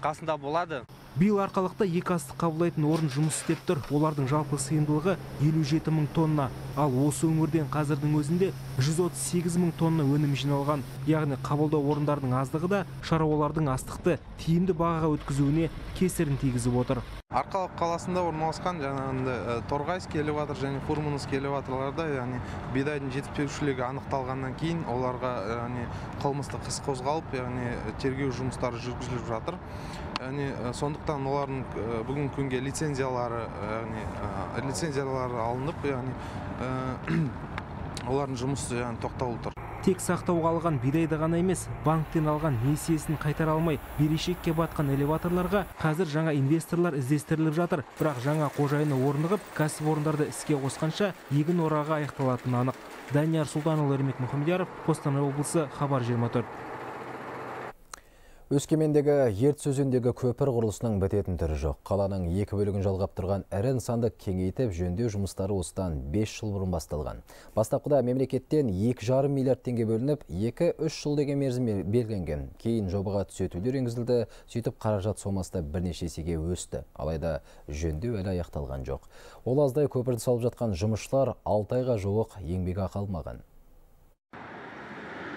қасында болады. Биыл Арқалықта екі астық қабылдайтын орын жұмыс істеп тұр. Олардың жалпы сыйымдылығы елу жеті мың тонна. Ал осы өңірден қазірдің өзінде жүз отыз сегіз мың тонна өнім жиналған. Яғни қабылдау орындарының аздығы да шаруалардың астықты тиімді бағаға өткізуіне кесірін тигізіп отыр. Арқалық қаласында орналасқан жаңағындай Торғайский элеватор және Фурмановский элеваторларда, яғни бидайдың жетіспеушілігі анықталғаннан кейін оларға яғни қылмыстық іс қозғалып, яғни тергеу жұмыстары жүргізіліп жатыр. Яғни сондықтан олардың бүгін күнге лицензиялары, яғни лицензиялары алынып, яғни олардың жұмысы яғни тоқталып тұр. Тек сақтауға алған бидайды ғана емес, банктен алған несиесін қайтара алмай берешекке батқан элеваторларға қазір жаңа инвесторлар іздестіріліп жатыр. Бірақ жаңа қожайыны орнығып, кәсіпорындарды іске қосқанша егін орағы аяқталатыны анық. Данияр Сұлтанұлы, Ермек Мұхамедияров, Қостанай облысы, Хабар жиырма төрт. Өскемендегі Ертіс өзендегі көпір құрылысының бітетін түрі жоқ. Қаланың екі бөлігін жалғап тұрған ірі нысанды кеңейтіп жөндеу жұмыстары осыдан бес жыл бұрын басталған. Бастапқыда мемлекеттен екі жарым миллиард теңге бөлініп, екі үш жыл деген мерзім белгіленген. Кейін жобаға түзетулер енгізілді, сөйтіп қаражат сомасы да бірнеше есеге өсті. Алайда жөндеу әлі аяқталған жоқ. Ол аздай көпірді салып жатқан жұмысшылар алты айға жуық еңбекақы алмаған.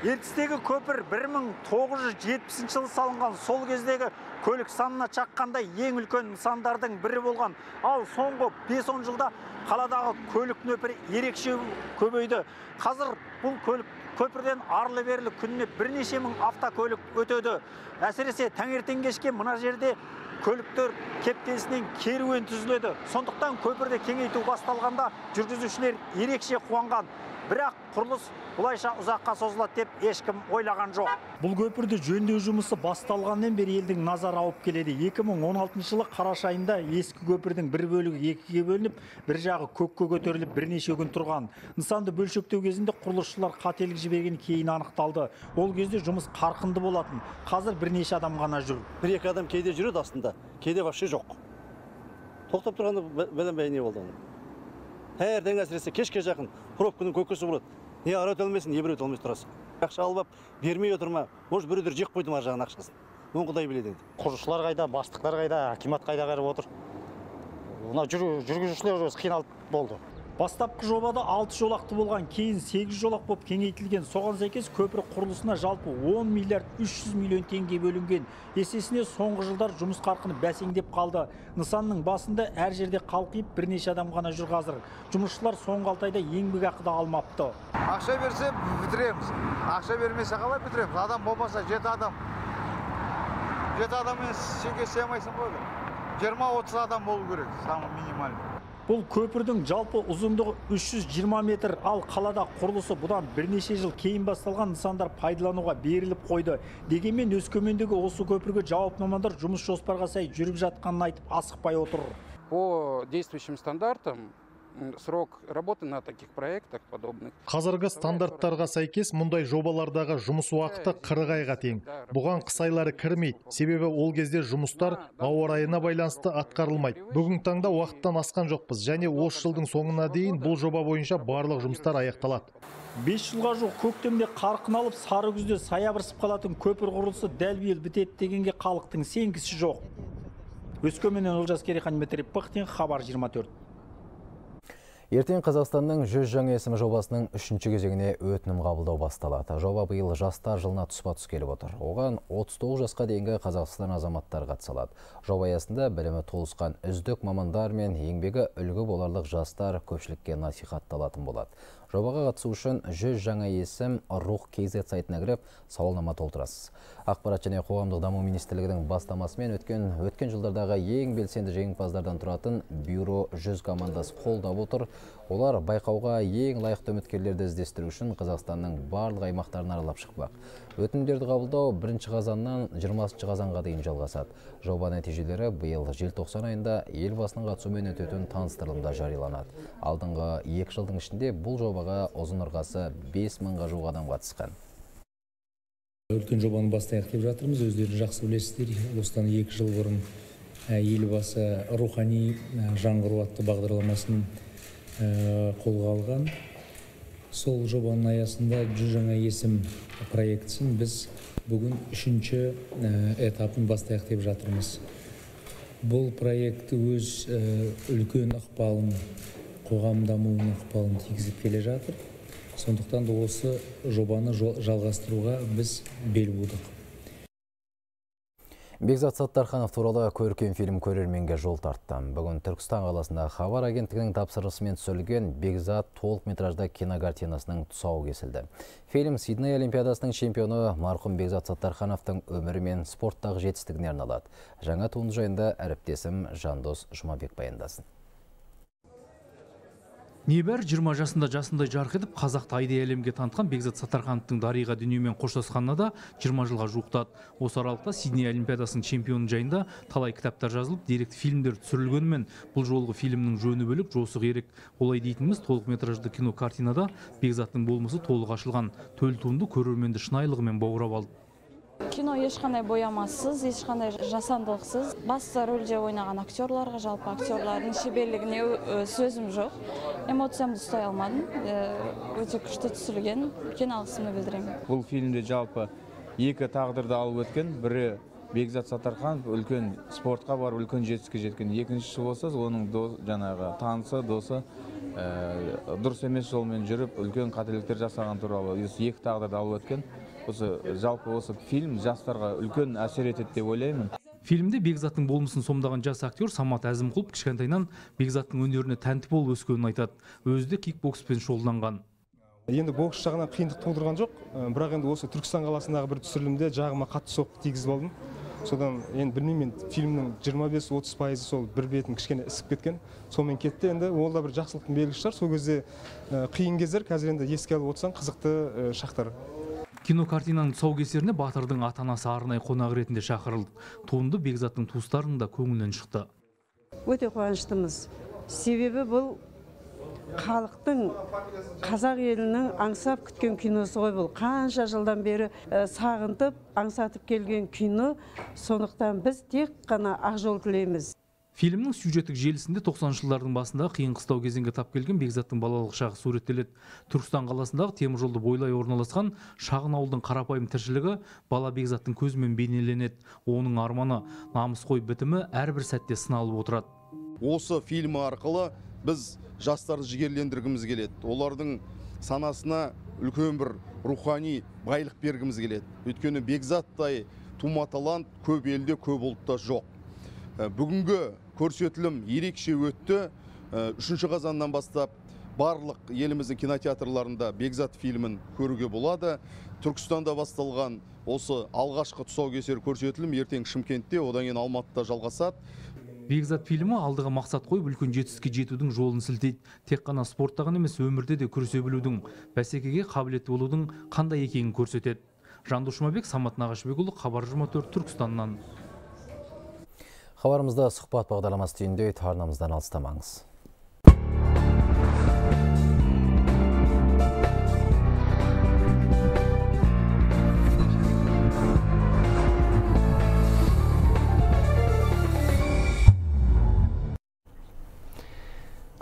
Ертістегі көпір бір мың тоғыз жүз жетпісінші жылы салынған. Сол кездегі көлік санына шаққанда ең үлкен нысандардың бірі болған. Ал соңғы бес он жылда қаладағы көлік нөпірі ерекше көбейді. Қазір бұл көлік көпірден арлы-берлі күніне бірнеше мың автокөлік өтеді. Әсіресе таңертең кешке мына жерде көліктер кептелісінен керуен түзіледі. Сондықтан көпірді кеңейту басталғанда жүргізушілер ерекше қуанған. Бірақ құрылыс бұлайша ұзаққа созылады деп ешкім ойлаған жоқ. Бұл көпірді жөндеу жұмысы басталғаннан бері елдің назары ауып келеді. екі мың он алтыншы жылы қараша айында ескі көпірдің бір бөлігі екіге бөлініп, бір жағы көкке көтеріліп бірнеше күн тұрған. Нысанды бөлшектеу кезінде құрылысшылар қателік жіберген кейін анықталды. Ол кезде жұмыс қарқынды болатын. Қазір бірнеше адам ғана жүр. Бір екі адам кейде жүреді астында, кейде вообще жоқ. Тоқтап тұрғанда білінбей не болды. Таңертең әсіресе кешке жақын пробканың көкесі болады. Не ара өте алмайсың, не бір өте алмайсың тұрасың. Ақша алып бермей отырма. Может, біреулер жек қойды ма жағын ақшасын. Оны Құдай біледі енді. Құрылысшылар қайда, бастықтар қайда, акимат қайда қарап отыр. Мына жүргізушілер өзі қиналып болды. Бастапқы жобада алты жолақты болған, кейін сегіз жолақ болып кеңейтілген. Соған сәйкес көпір құрылысына жалпы он миллиард үш жүз миллион теңге бөлінген. Есесіне соңғы жылдар жұмыс қарқыны бәсеңдеп қалды. Нысанның басында әр жерде қалқиып бірнеше адам ғана жүр қазір. Жұмысшылар соңғы алты айда еңбек ақы да алмапты. Ақша берсе бітіреміз. Ақша бермесе қалай бітіреміз? Адам болмаса жеті адам. жеті адаммен сенге сыймайсың ғой. жиырма отыз адам болу керек, самый минимальный. Бұл көпірдің жалпы ұзындығы үш жүз жиырма метр, ал қалада құрылысы бұдан бірнеше жыл кейін басталған нысандар пайдалануға беріліп қойды. Дегенмен Өскемендегі осы көпірге жауапты мамандар жұмыс жоспарға сай жүріп жатқанын айтып асықпай отыр. По действующим стандартам срок работы на таких проектах подобных. Қазіргі стандарттарға сәйкес мұндай жобалардағы жұмыс уақыты қырық айға тең. Бұған қыс айлары кірмейді, себебі ол кезде жұмыстар ауа райына байланысты атқарылмайды. Бүгінгі таңда уақыттан асқан жоқпыз, және осы жылдың соңына дейін бұл жоба бойынша барлық жұмыстар аяқталады. бес жылға жоқ көктемде қарқын алып, сары күзде саябырсып қалатын көпір құрылысы дәл биыл бітеді дегенге халықтың сенгісі жоқ. Өскеменнен Олжас Керейхан, Дмитрий Пыхтин, Хабар жиырма төрт. Ертең Қазақстанның жүз жаңа есімі жобасының үшінші кезеңіне өтінім қабылдау басталады. Жоба биыл жастар жылына тұспа-тұс келіп отыр. Оған отыз тоғыз жасқа дейінгі Қазақстан азаматтары қатысалады. Жоба аясында білімі толысқан үздік мамандар мен еңбегі үлгі боларлық жастар көпшілікке насихатталатын болады. Жобаға қатысу үшін жүз жаңа есім рух кз сайтына кіріп сауалнама толтырасыз. Ақпарат және қоғамдық даму министрлігінің бастамасымен өткен өткен жылдардағы ең белсенді жеңімпаздардан тұратын бюро жүз командасы қолдап отыр. Олар байқауға ең лайықты үміткерлерді іздестіру үшін Қазақстанның барлық аймақтарын аралап шықпақ. Өтінімдерді қабылдау бірінші қазаннан жиырмасыншы қазанға дейін жалғасады. Жоба нәтижелері биыл желтоқсан айында елбасының қатысуымен өтетін таныстырылымда жарияланады. Алдыңғы екі жылдың ішінде бұл жобаға ұзын ырғасы бес мыңға жуық адам қатысқан. Үлкен жобаны бастайық деп жатырмыз. Өздеріңіз жақсы білесіздер, осыдан екі жыл бұрын елбасы рухани жаңғыру атты бағдарламасын қолға алған. Сол жобаның аясында жүз жаңа есім проектісін біз бүгін үшінші этапын бастайық деп жатырмыз. Бұл проект өз үлкен ықпалын, қоғам дамуының ықпалын тигізіп келе жатыр. Сондықтан да осы жобаны жалғастыруға біз бел будық. Бекзат Саттарханов туралы көркем фильм көрерменге жол тартты. Бүгін Түркістан қаласында Хабар агенттігінің тапсырысымен түсірілген Бекзат толық метражды кинокартинасының тұсауы кесілді. Фильм Сидней Олимпиадасының чемпионы марқұм Бекзат Саттархановтың өмірі мен спорттағы жетістігіне арналады. Жаңа туынды жайында әріптесім Жандос Жұмабек баяндасын. Небір жиырма жасында жасындай жарқ етіп, қазақты айдай әлемге танытқан Бекзат Саттархановтың дариға дүниемен қоштасқанына да жиырма жылға жуықтады. Осы аралықта Сидней Олимпиадасының чемпионы жайында талай кітаптар жазылып, деректі фильмдер түсірілгенімен, бұл жолғы фильмнің жөні бөлек, жосы керек. Олай дейтініміз толық метражды кино картинада Бекзаттың болмысы толық ашылған. Төл туынды көрерменді шынайылығымен баурап алды. Кино ешқандай боямасыз, ешқандай жасандылықсыз. Басты рөлде ойнаған актерларға, жалпы актерлардың шеберлігіне сөзім жоқ. Эмоциямды ұстай алмадым. Өте күшті түсірілген, үлкен алғысымды білдіремін. Бұл фильмде жалпы екі тағдырды алып өткен, бірі Бекзат Саттарханов үлкен спортқа бар, үлкен жетістікке жеткен. Екіншісі болса, оның жаңағы танысы, досы дұрыс емес жолмен жүріп, үлкен қателіктер жасаған туралы екі тағдырды алып өткен. Осы жалпы осы фильм жастарға үлкен әсер етеді деп ойлаймын. Фильмде Бекзаттың болмысын сомдаған жас актер Самат Әзімқұлов кішкентайынан Бекзаттың өнеріне тәнті болып өскенін айтады. Өзі де кикбокспен шұғылданған. Енді бокс жағынан қиындық тудырған жоқ, бірақ енді осы Түркістан қаласындағы бір түсірілімде жағыма қатты соққы тигізіп алдым. Содан енді білмеймін, фильмнің жиырма бес отыз пайызы сол бір бетін кішкене ісіп кеткен. Сонымен кетті. Енді ол да бір жақсылықтың белгісі шығар. Сол кезде қиын кездер, қазір енді еске алып отырсаң қызықты шақтар. Кинокартинаның тұсаукесеріне батырдың ата-анасы арнайы қонақ ретінде шақырылды. Туынды Бекзаттың туыстарының да көңілінен шықты. Өте қуаныштымыз. Себебі бұл халықтың, қазақ елінің аңсап күткен киносы ғой бұл. Қанша жылдан бері сағынтып, аңсатып келген кино. Сондықтан біз тек қана ақ жол тілейміз. Фильмнің сюжеттік желісінде тоқсаныншы жылдардың басында қиын қыстау кезеңге тап келген Бекзаттың балалық шағы суреттеледі. Түркістан қаласындағы темір жолды бойлай орналасқан шағын ауылдың қарапайым тіршілігі бала Бекзаттың көзімен бейнеленеді. Оның арманы, намысқой бітімі әрбір сәтте сыналып отырады. Осы фильм арқылы біз жастарды жігерлендіргіміз келеді. Олардың санасына үлкен бір рухани байлық бергіміз келеді. Өйткені Бекзаттай тума талант көп елде, көп ұлтта жоқ. Бүгінгі көрсетілім ерекше өтті. Үшінші қазаннан бастап барлық еліміздің кинотеатрларында Бекзат фильмін көруге болады. Түркістанда басталған осы алғашқы тұсаукесер көрсетілім ертең Шымкентте, одан кейін Алматыда жалғасады. Бекзат фильмі алдыға мақсат қойып үлкен жетістікке жетудің жолын сілтейді. Тек қана спортта ғана емес, өмірде де күресе білудің, бәсекеге қабілетті болудың қандай екенін көрсетеді. Жандос Жұмабек, Самат Нағашыбекұлы, Хабар жиырма төрт, Түркістаннан. Хабарымызда сұхбат бағдарламасы түйінде арнамыздан алыстамаңыз.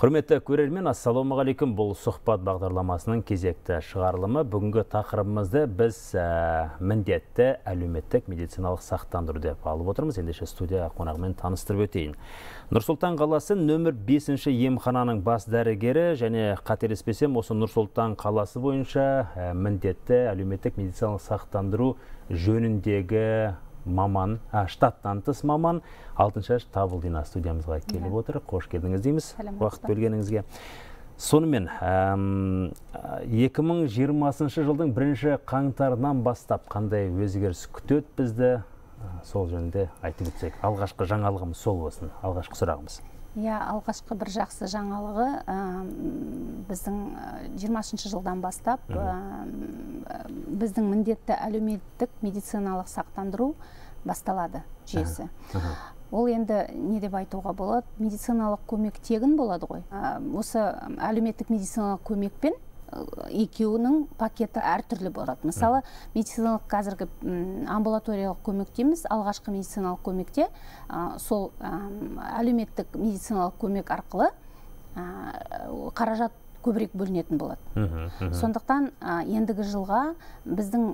Құрметті көрермен, ассалаумағалейкум. Бұл сұхбат бағдарламасының кезекті шығарылымы. Бүгінгі тақырыбымызды біз ә, міндетті әлеуметтік медициналық сақтандыру деп алып отырмыз. Ендеше студия қонағымен таныстырып өтейін. Нұр-Сұлтан қаласы нөмір бесінші емхананың бас дәрігері және қателеспесем осы Нұр-Сұлтан қаласы бойынша ә, міндетті әлеуметтік медициналық сақтандыру жөніндегі маман, а, штаттан тыс маман Алтыншаш Табылдина студиямызға келіп отыр. Қош келдіңіз дейміз, уақыт бөлгеніңізге. Сонымен, екі мың жиырмасыншы жылдың бірінші қаңтарынан бастап қандай өзгеріс күтеді бізді, сол жөнінде айтып өтсек. Алғашқы жаңалығымыз сол болсын, алғашқы сұрағымыз. Иә, алғашқы бір жақсы жаңалығы біздің жиырмасыншы жылдан бастап біздің міндетті әлеуметтік медициналық сақтандыру басталады жүйесі. Ол енді не деп айтуға болады? Медициналық көмек тегін болады ғой. Осы әлеуметтік медициналық көмекпен екеуінің пакеті әртүрлі болады. Мысалы, медициналық қазіргі амбулаториялық көмек дейміз, алғашқы медициналық көмекте сол әлеуметтік медициналық көмек арқылы қаражат көбірек бөлінетін болады. Сондықтан ендігі жылға біздің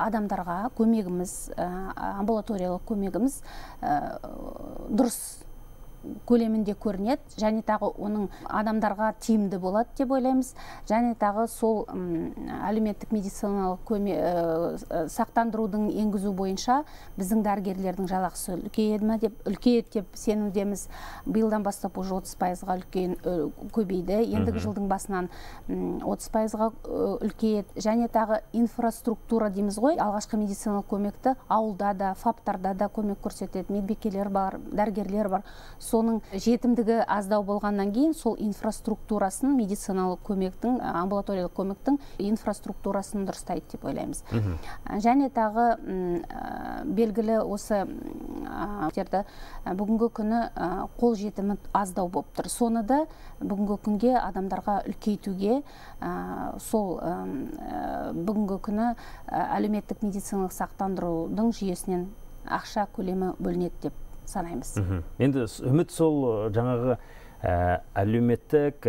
адамдарға көмегіміз, амбулаториялық көмегіміз дұрыс көлемінде көрінеді, және тағы оның адамдарға тиімді болады деп ойлаймыз. Және тағы сол әлеуметтік медициналық сақтандырудың енгізу бойынша біздің дәрігерлердің жалақысы үлкейеді ме деп үлкейеді деп сенудеміз. Биылдан бастап уже отыз пайызға үлкен көбейді. Ендігі жылдың басынан отыз пайызға үлкейеді. Және тағы инфраструктура дейміз ғой. Алғашқы медициналық көмекті ауылда да, фаптарда да көмек көрсетеді. Медбикелер бар, дәрігерлер бар. Соның жетімдігі аздау болғаннан кейін сол инфраструктурасын, медициналық көмектің, амбулаториялық көмектің инфраструктурасын дұрыстайды деп ойлаймыз. Және тағы белгілі осы бүгінгі күні қол жетімі аздау болып тұр. Соны да бүгінгі күнге адамдарға үлкейтуге сол бүгінгі күні әлеуметтік медициналық сақтандырудың жүйесінен ақша көлемі бөлінеді деп санаймыз. Енді үміт сол жаңағы әлеуметтік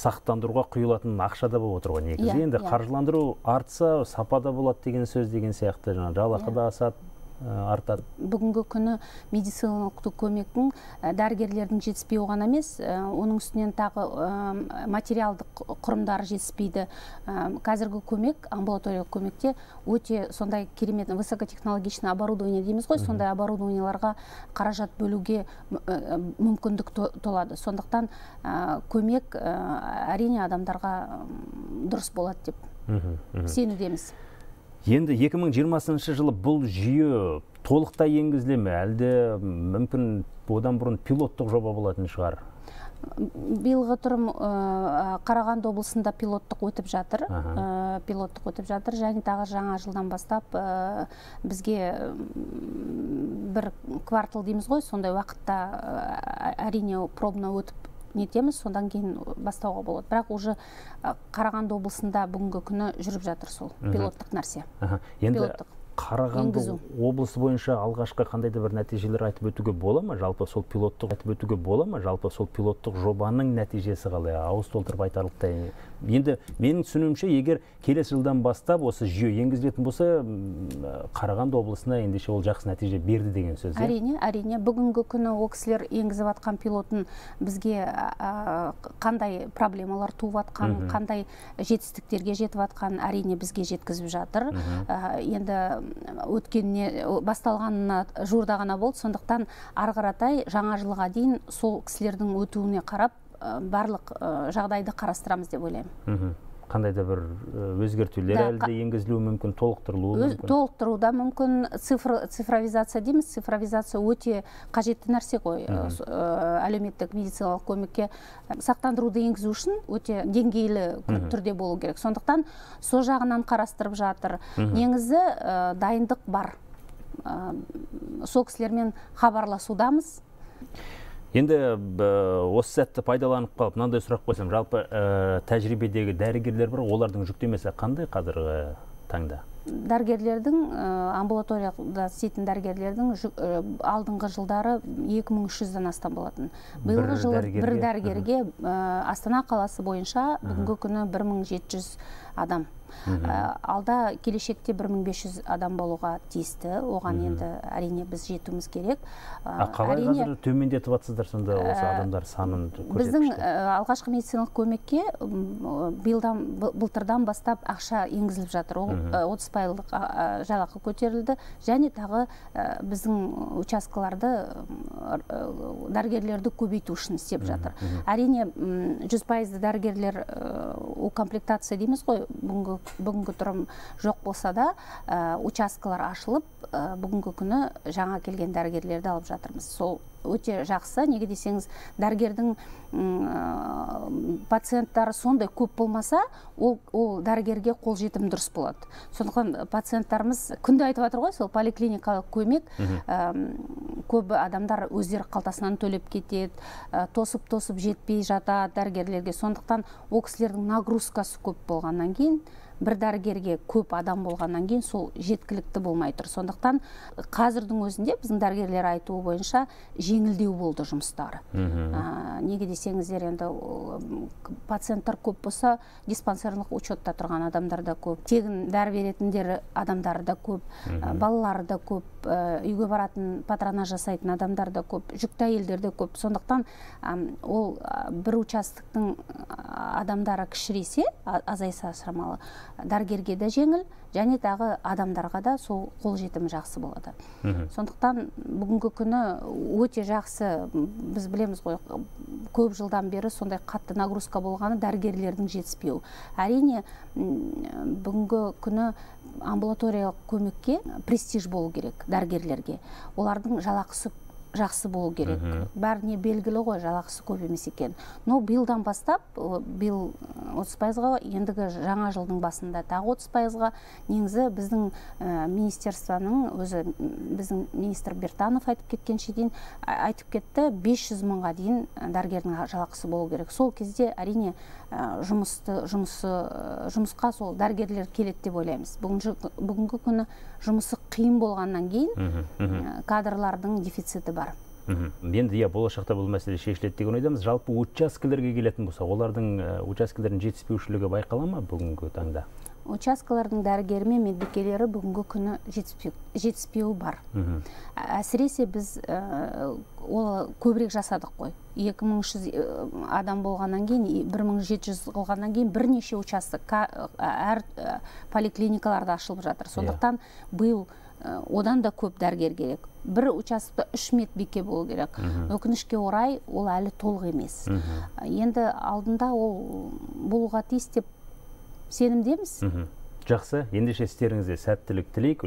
сақтандыруға құйылатын ақшада болып отыр ғой негізі. Енді қаржыландыру артса сапада болады деген сөз деген сияқты, жалақы да асады, артады. Бүгінгі күні медициналық көмектің дәрігерлердің жетіспеуі ғана емес, оның үстінен тағы материалдық құрымдары жетіспейді. Қазіргі көмек, амбулаториялық көмекте өте сондай керемет высокотехнологичный оборудование дейміз ғой, сондай оборудованияларға қаражат бөлуге мүмкіндік толады. Сондықтан көмек әрине адамдарға дұрыс болады деп сенудеміз. Енді екі мың жиырмасыншы жылы бұл жүйе толықтай енгізіле ме, әлде мүмкін одан бұрын пилоттық жоба болатын шығар? Биылғы тұрым Қарағанды облысында пилоттық өтіп жатыр. Пилоттық өтіп жатыр. Және тағы жаңа жылдан бастап бізге бір квартал дейміз ғой, сондай уақытта әрине пробна өтіп нетеміз, сондан кейін бастауға болады. Бірақ уже Қарағанды облысында бүгінгі күні жүріп жатыр сол пилоттық нәрсе. Енді Қарағанды облысы бойынша алғашқы қандай да бір нәтижелер айтып өтуге бола ма? Жалпы сол пилоттық айтып өтуге бола ма? Жалпы сол пилоттық жобаның нәтижесі қалай? Ауыз толтырып айтарлықтай. Енді менің түсінуімше, егер келесі жылдан бастап осы жүйе енгізілетін болса, Қарағанды облысына ендеше ол жақсы нәтиже берді деген сөз. Әрине, әрине. Бүгінгі күні ол кісілер енгізіп атқан пилотын бізге қандай проблемалар туып атқан, қандай жетістіктерге жетіп атқан әрине бізге жеткізіп жатыр. Енді өткеніне басталғанына жуырда ғана болды, сондықтан ары қаратай жаңа жылға дейін сол кісілердің өтуіне қарап барлық жағдайды қарастырамыз деп ойлаймын. Қандай да бір өзгертулер әлі де енгізілуі мүмкін, толықтырылуы мүмкін? Толықтыруда мүмкін. Цифровизация дейміз. Цифровизация өте қажетті нәрсе ғой. Әлеуметтік медициналық көмекке сақтандыруды енгізу үшін өте деңгейлі түрде болу керек. Сондықтан сол жағынан қарастырып жатыр. Негізі дайындық бар. Сол кісілермен хабарласудамыз. Енді осы сәтті пайдаланып қалып, мынандай сұрақ қойсам, жалпы тәжірибедегі дәрігерлер бар, олардың жүктемесі қандай қазіргі таңда? Дәрігерлердің, амбулаторияда істейтін дәрігерлердің алдыңғы жылдары екі мың үш жүзден астам болатын. Биылғы жылы бір дәрігерге Астана қаласы бойынша бүгінгі күні бір мың жеті жүз адам. Алда келешекте бір мың бес жүз адам болуға тиісті. Оған енді әрине біз жетуіміз керек. Қалай қазір төмендетіп жатсыздар сонда осы адамдар санын көрсеткішті? Біздің алғашқы медициналық көмекке былтырдан бастап ақша енгізіліп жатыр. Ол отыз пайыздық жалақы көтерілді, және тағы біздің учаскаларды дәрігерлерді көбейту үшін істеп жатыр. Әрине жүз пайызды дәрігерлер укомплектация дейміз ғой, бүгінгі тұрым жоқ болса да, учаскалар ашылып, бүгінгі күні жаңа келген дәрігерлерді алып жатырмыз. Сол өте жақсы. Неге десеңіз, дәрігердің пациенттары сондай көп болмаса, ол дәрігерге қол жетім дұрыс болады. Сондықтан пациенттарымыз күнде айтып жатыр ғой, сол поликлиникалық көмек көбі адамдар өздері қалтасынан төлеп кетеді, тосып-тосып жетпей жатады дәрігерлерге. Сондықтан ол кісілердің нагрузкасы көп болғаннан кейін, бір дәрігерге көп адам болғаннан кейін сол жеткілікті болмай тұр. Сондықтан қазірдің өзінде біздің дәрігерлер айтуы бойынша жеңілдеу болды жұмыстары. Неге десеңіздер, енді пациенттар көп болса, диспансерлық учетта тұрған адамдар да көп, тегін дәрі беретіндер адамдар да көп, балалары да көп, үйге баратын патронаж жасайтын адамдар да көп, жүкті әйелдер де көп. Сондықтан ол бір участоктың адамдары кішірейсе, азайса шамалы, дәрігерге де жеңіл, және тағы адамдарға да сол қол жетімі жақсы болады. Сондықтан бүгінгі күні өте жақсы. Біз білеміз ғой, көп жылдан бері сондай қатты нагрузка болғаны дәрігерлердің жетіспеуі. Әрине бүгінгі күні амбулаториялық көмекке престиж болу керек дәрігерлерге. Олардың жалақысы жақсы болу керек. Бәріне белгілі ғой, жалақысы көп емес екен. Но биылдан бастап, биыл отыз пайызға, ендігі жаңа жылдың басында тағы отыз пайызға, негізі біздің министерствоның өзі, біздің министр Бертанов айтып кеткенше дейін, айтып кетті, бес жүз мыңға дейін дәрігердің жалақысы болу керек. Сол кезде әрине жұмысқа сол дәрігерлер келеді деп ойлаймыз. Бүгінгі күні жұмысы қиын болғаннан кейін кадрлардың дефициті бар. Енді болашақта бұл мәселе шешіледі деген ойдамыз. Жалпы учаскелерге келетін болса, олардың учаскелердің жетіспеушілігі байқала ма бүгінгі таңда? Учаскалардың дәрігері мен медбикелері бүгінгі күні жетіспеуі бар. Әсіресе біз ол көбірек жасадық қой. екі мың үш жүз адам болғаннан кейін, бір мың жеті жүз қылғаннан кейін бірнеше участок әр поликлиникаларда ашылып жатыр. Сондықтан биыл одан да көп дәрігер керек. Бір участокта үш медбике болу керек. Өкінішке орай ол әлі толық емес. Енді алдында ол болуға тиіс деп сенімдеміз. Жақсы, ендеше істеріңізде сәттілік тілейік.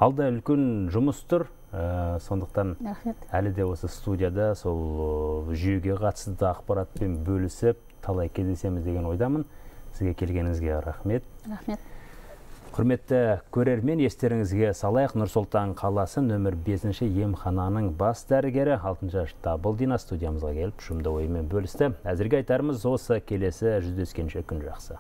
Алда үлкен жұмыс тұр. Сондықтан әлі де осы студияда сол жүйеге қатысты ақпаратпен бөлісіп, талай кездесеміз деген ойдамын. Сізге келгеніңізге рахмет. Рахмет. Құрметті көрермен, естеріңізге салайық, Нұр-Сұлтан қаласы нөмір бесінші емхананың бас дәрігері Алтыншаш Табылдина студиямызға келіп, жұмды ойымен бөлісті. Әзірге айтарымыз осы, келесі жүздескенше күн жақсы.